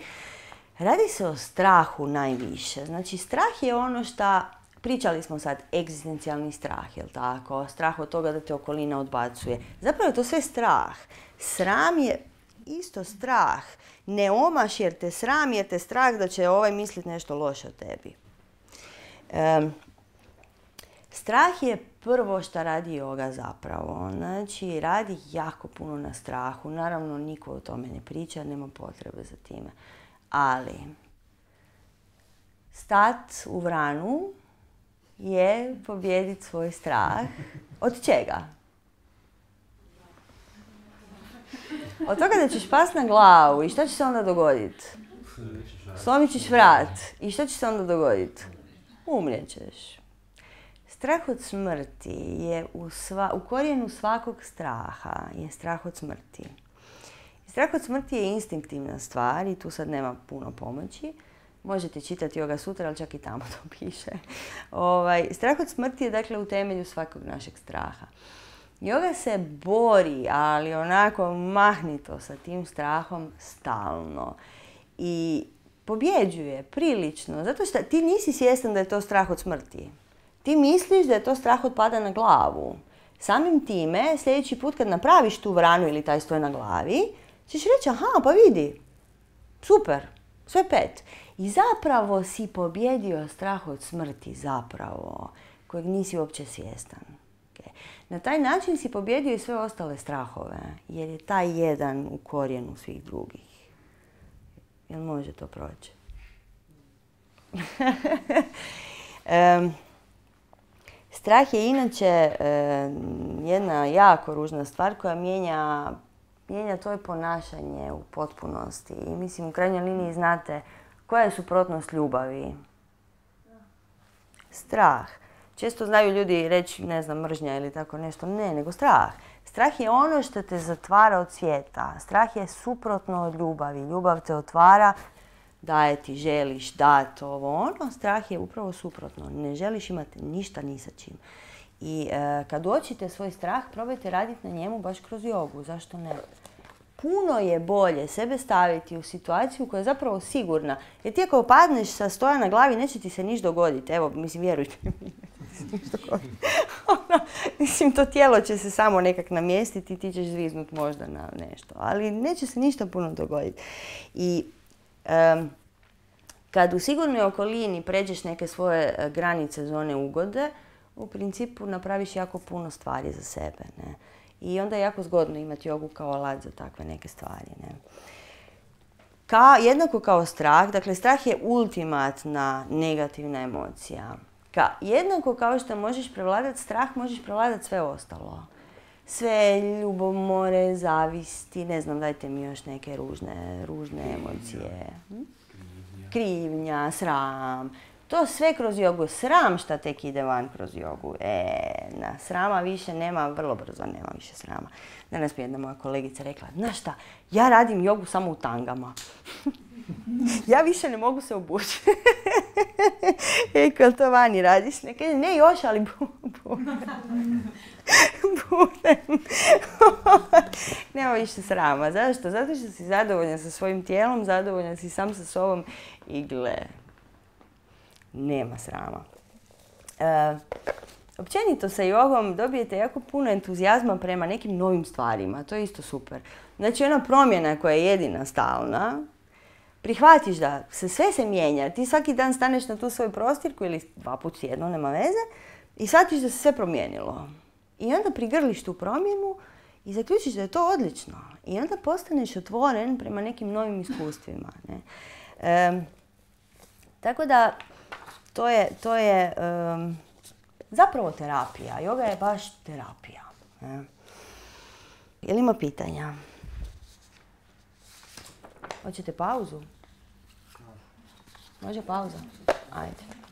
S1: Radi se o strahu najviše. Znači, strah je ono što, pričali smo sad, egzistencijalni strah, jel tako? Strah od toga da te okolina odbacuje. Zapravo je to sve strah. Sram je isto strah. Ne omaš jer te sram, jer te strah da će ovaj misliti nešto loše o tebi. Um, strah je prvo što radi joga zapravo. Znači, radi jako puno na strahu. Naravno, niko o tome ne priča, nema potrebe za time. Ali, stat u vranu je pobijediti svoj strah. Od čega? Od toga da ćeš past na glavu i šta će se onda dogoditi? Slomit ćeš vrat. I šta će se onda dogoditi? Umrijet ćeš. Strah od smrti je u, sva, u korijenu svakog straha je strah od smrti. Strah od smrti je instinktivna stvar i tu sad nema puno pomoći. Možete čitati Yoga Sutra, ali čak i tamo to piše. Ovaj, strah od smrti je dakle u temelju svakog našeg straha. Joga se bori, ali onako mahnito sa tim strahom stalno. I pobjeđuje prilično, zato što ti nisi svjestan da je to strah od smrti. Ti misliš da je to strah od pada na glavu. Samim time, sljedeći put kad napraviš tu vranu ili taj stoj na glavi, ćeš reći, aha, pa vidi, super, sve pet. I zapravo si pobjedio strah od smrti, zapravo, kojeg nisi uopće svjestan. Okay. Na taj način si pobjedio i sve ostale strahove, jer je taj jedan u korijenu svih drugih. Jel može to proći? um, strah je inače um, jedna jako ružna stvar koja mijenja mijenja tvoje ponašanje u potpunosti. I mislim, u krajnjoj liniji znate koja je suprotnost ljubavi? Strah. Često znaju ljudi reći, ne znam, mržnja ili tako nešto. Ne, nego strah. Strah je ono što te zatvara od svijeta. Strah je suprotno od ljubavi. Ljubav te otvara, daje ti, želiš dati ovo ono. Strah je upravo suprotno. Ne želiš imati ništa ni sa čim. I e, kad uočite svoj strah, probajte raditi na njemu baš kroz jogu. Zašto ne? Puno je bolje sebe staviti u situaciju koja je zapravo sigurna. Jer ti ako padneš sa stoja na glavi, neće ti se ništa dogoditi. Evo, mislim, vjerujte mi, neće se ništa dogoditi. Mislim, to tijelo će se samo nekak namjestiti i ti ćeš zviznut možda na nešto. Ali neće se ništa puno dogoditi. I um, kad u sigurnoj okolini pređeš neke svoje granice, zone ugode, u principu napraviš jako puno stvari za sebe. Ne? I onda je jako zgodno imati jogu kao alat za takve neke stvari. Ne? Ka, jednako kao strah, dakle strah je ultimatna negativna emocija. Ka, jednako kao što možeš prevladati strah, možeš prevladati sve ostalo. sve ljubomore, zavisti, ne znam, dajte mi još neke ružne, ružne emocije. Hm? Krivnja, sram. To sve kroz jogu. Sram šta tek ide van kroz jogu. E, na, srama više nema, vrlo brzo nema više srama. Danas mi jedna moja kolegica rekla, znaš šta, ja radim jogu samo u tangama. Ja više ne mogu se obući. Eko, to vani radiš? Ne, kaže, ne još, ali budem. Budem. Nema više srama. Zašto? Zato što si zadovoljan sa svojim tijelom, zadovoljan si sam sa sobom i gle, nema srama. E, općenito sa jogom dobijete jako puno entuzijazma prema nekim novim stvarima. To je isto super. Znači, ona promjena koja je jedina stalna, prihvatiš da se sve se mijenja. Ti svaki dan staneš na tu svoju prostirku ili dva put tjedno, nema veze, i shvatiš da se sve promijenilo. I onda prigrliš tu promjenu i zaključiš da je to odlično. I onda postaneš otvoren prema nekim novim iskustvima. Ne? E, tako da, to je, to je um, zapravo terapija. Joga je baš terapija. Ne? Je li ima pitanja? Hoćete pauzu? Može pauza? Ajde.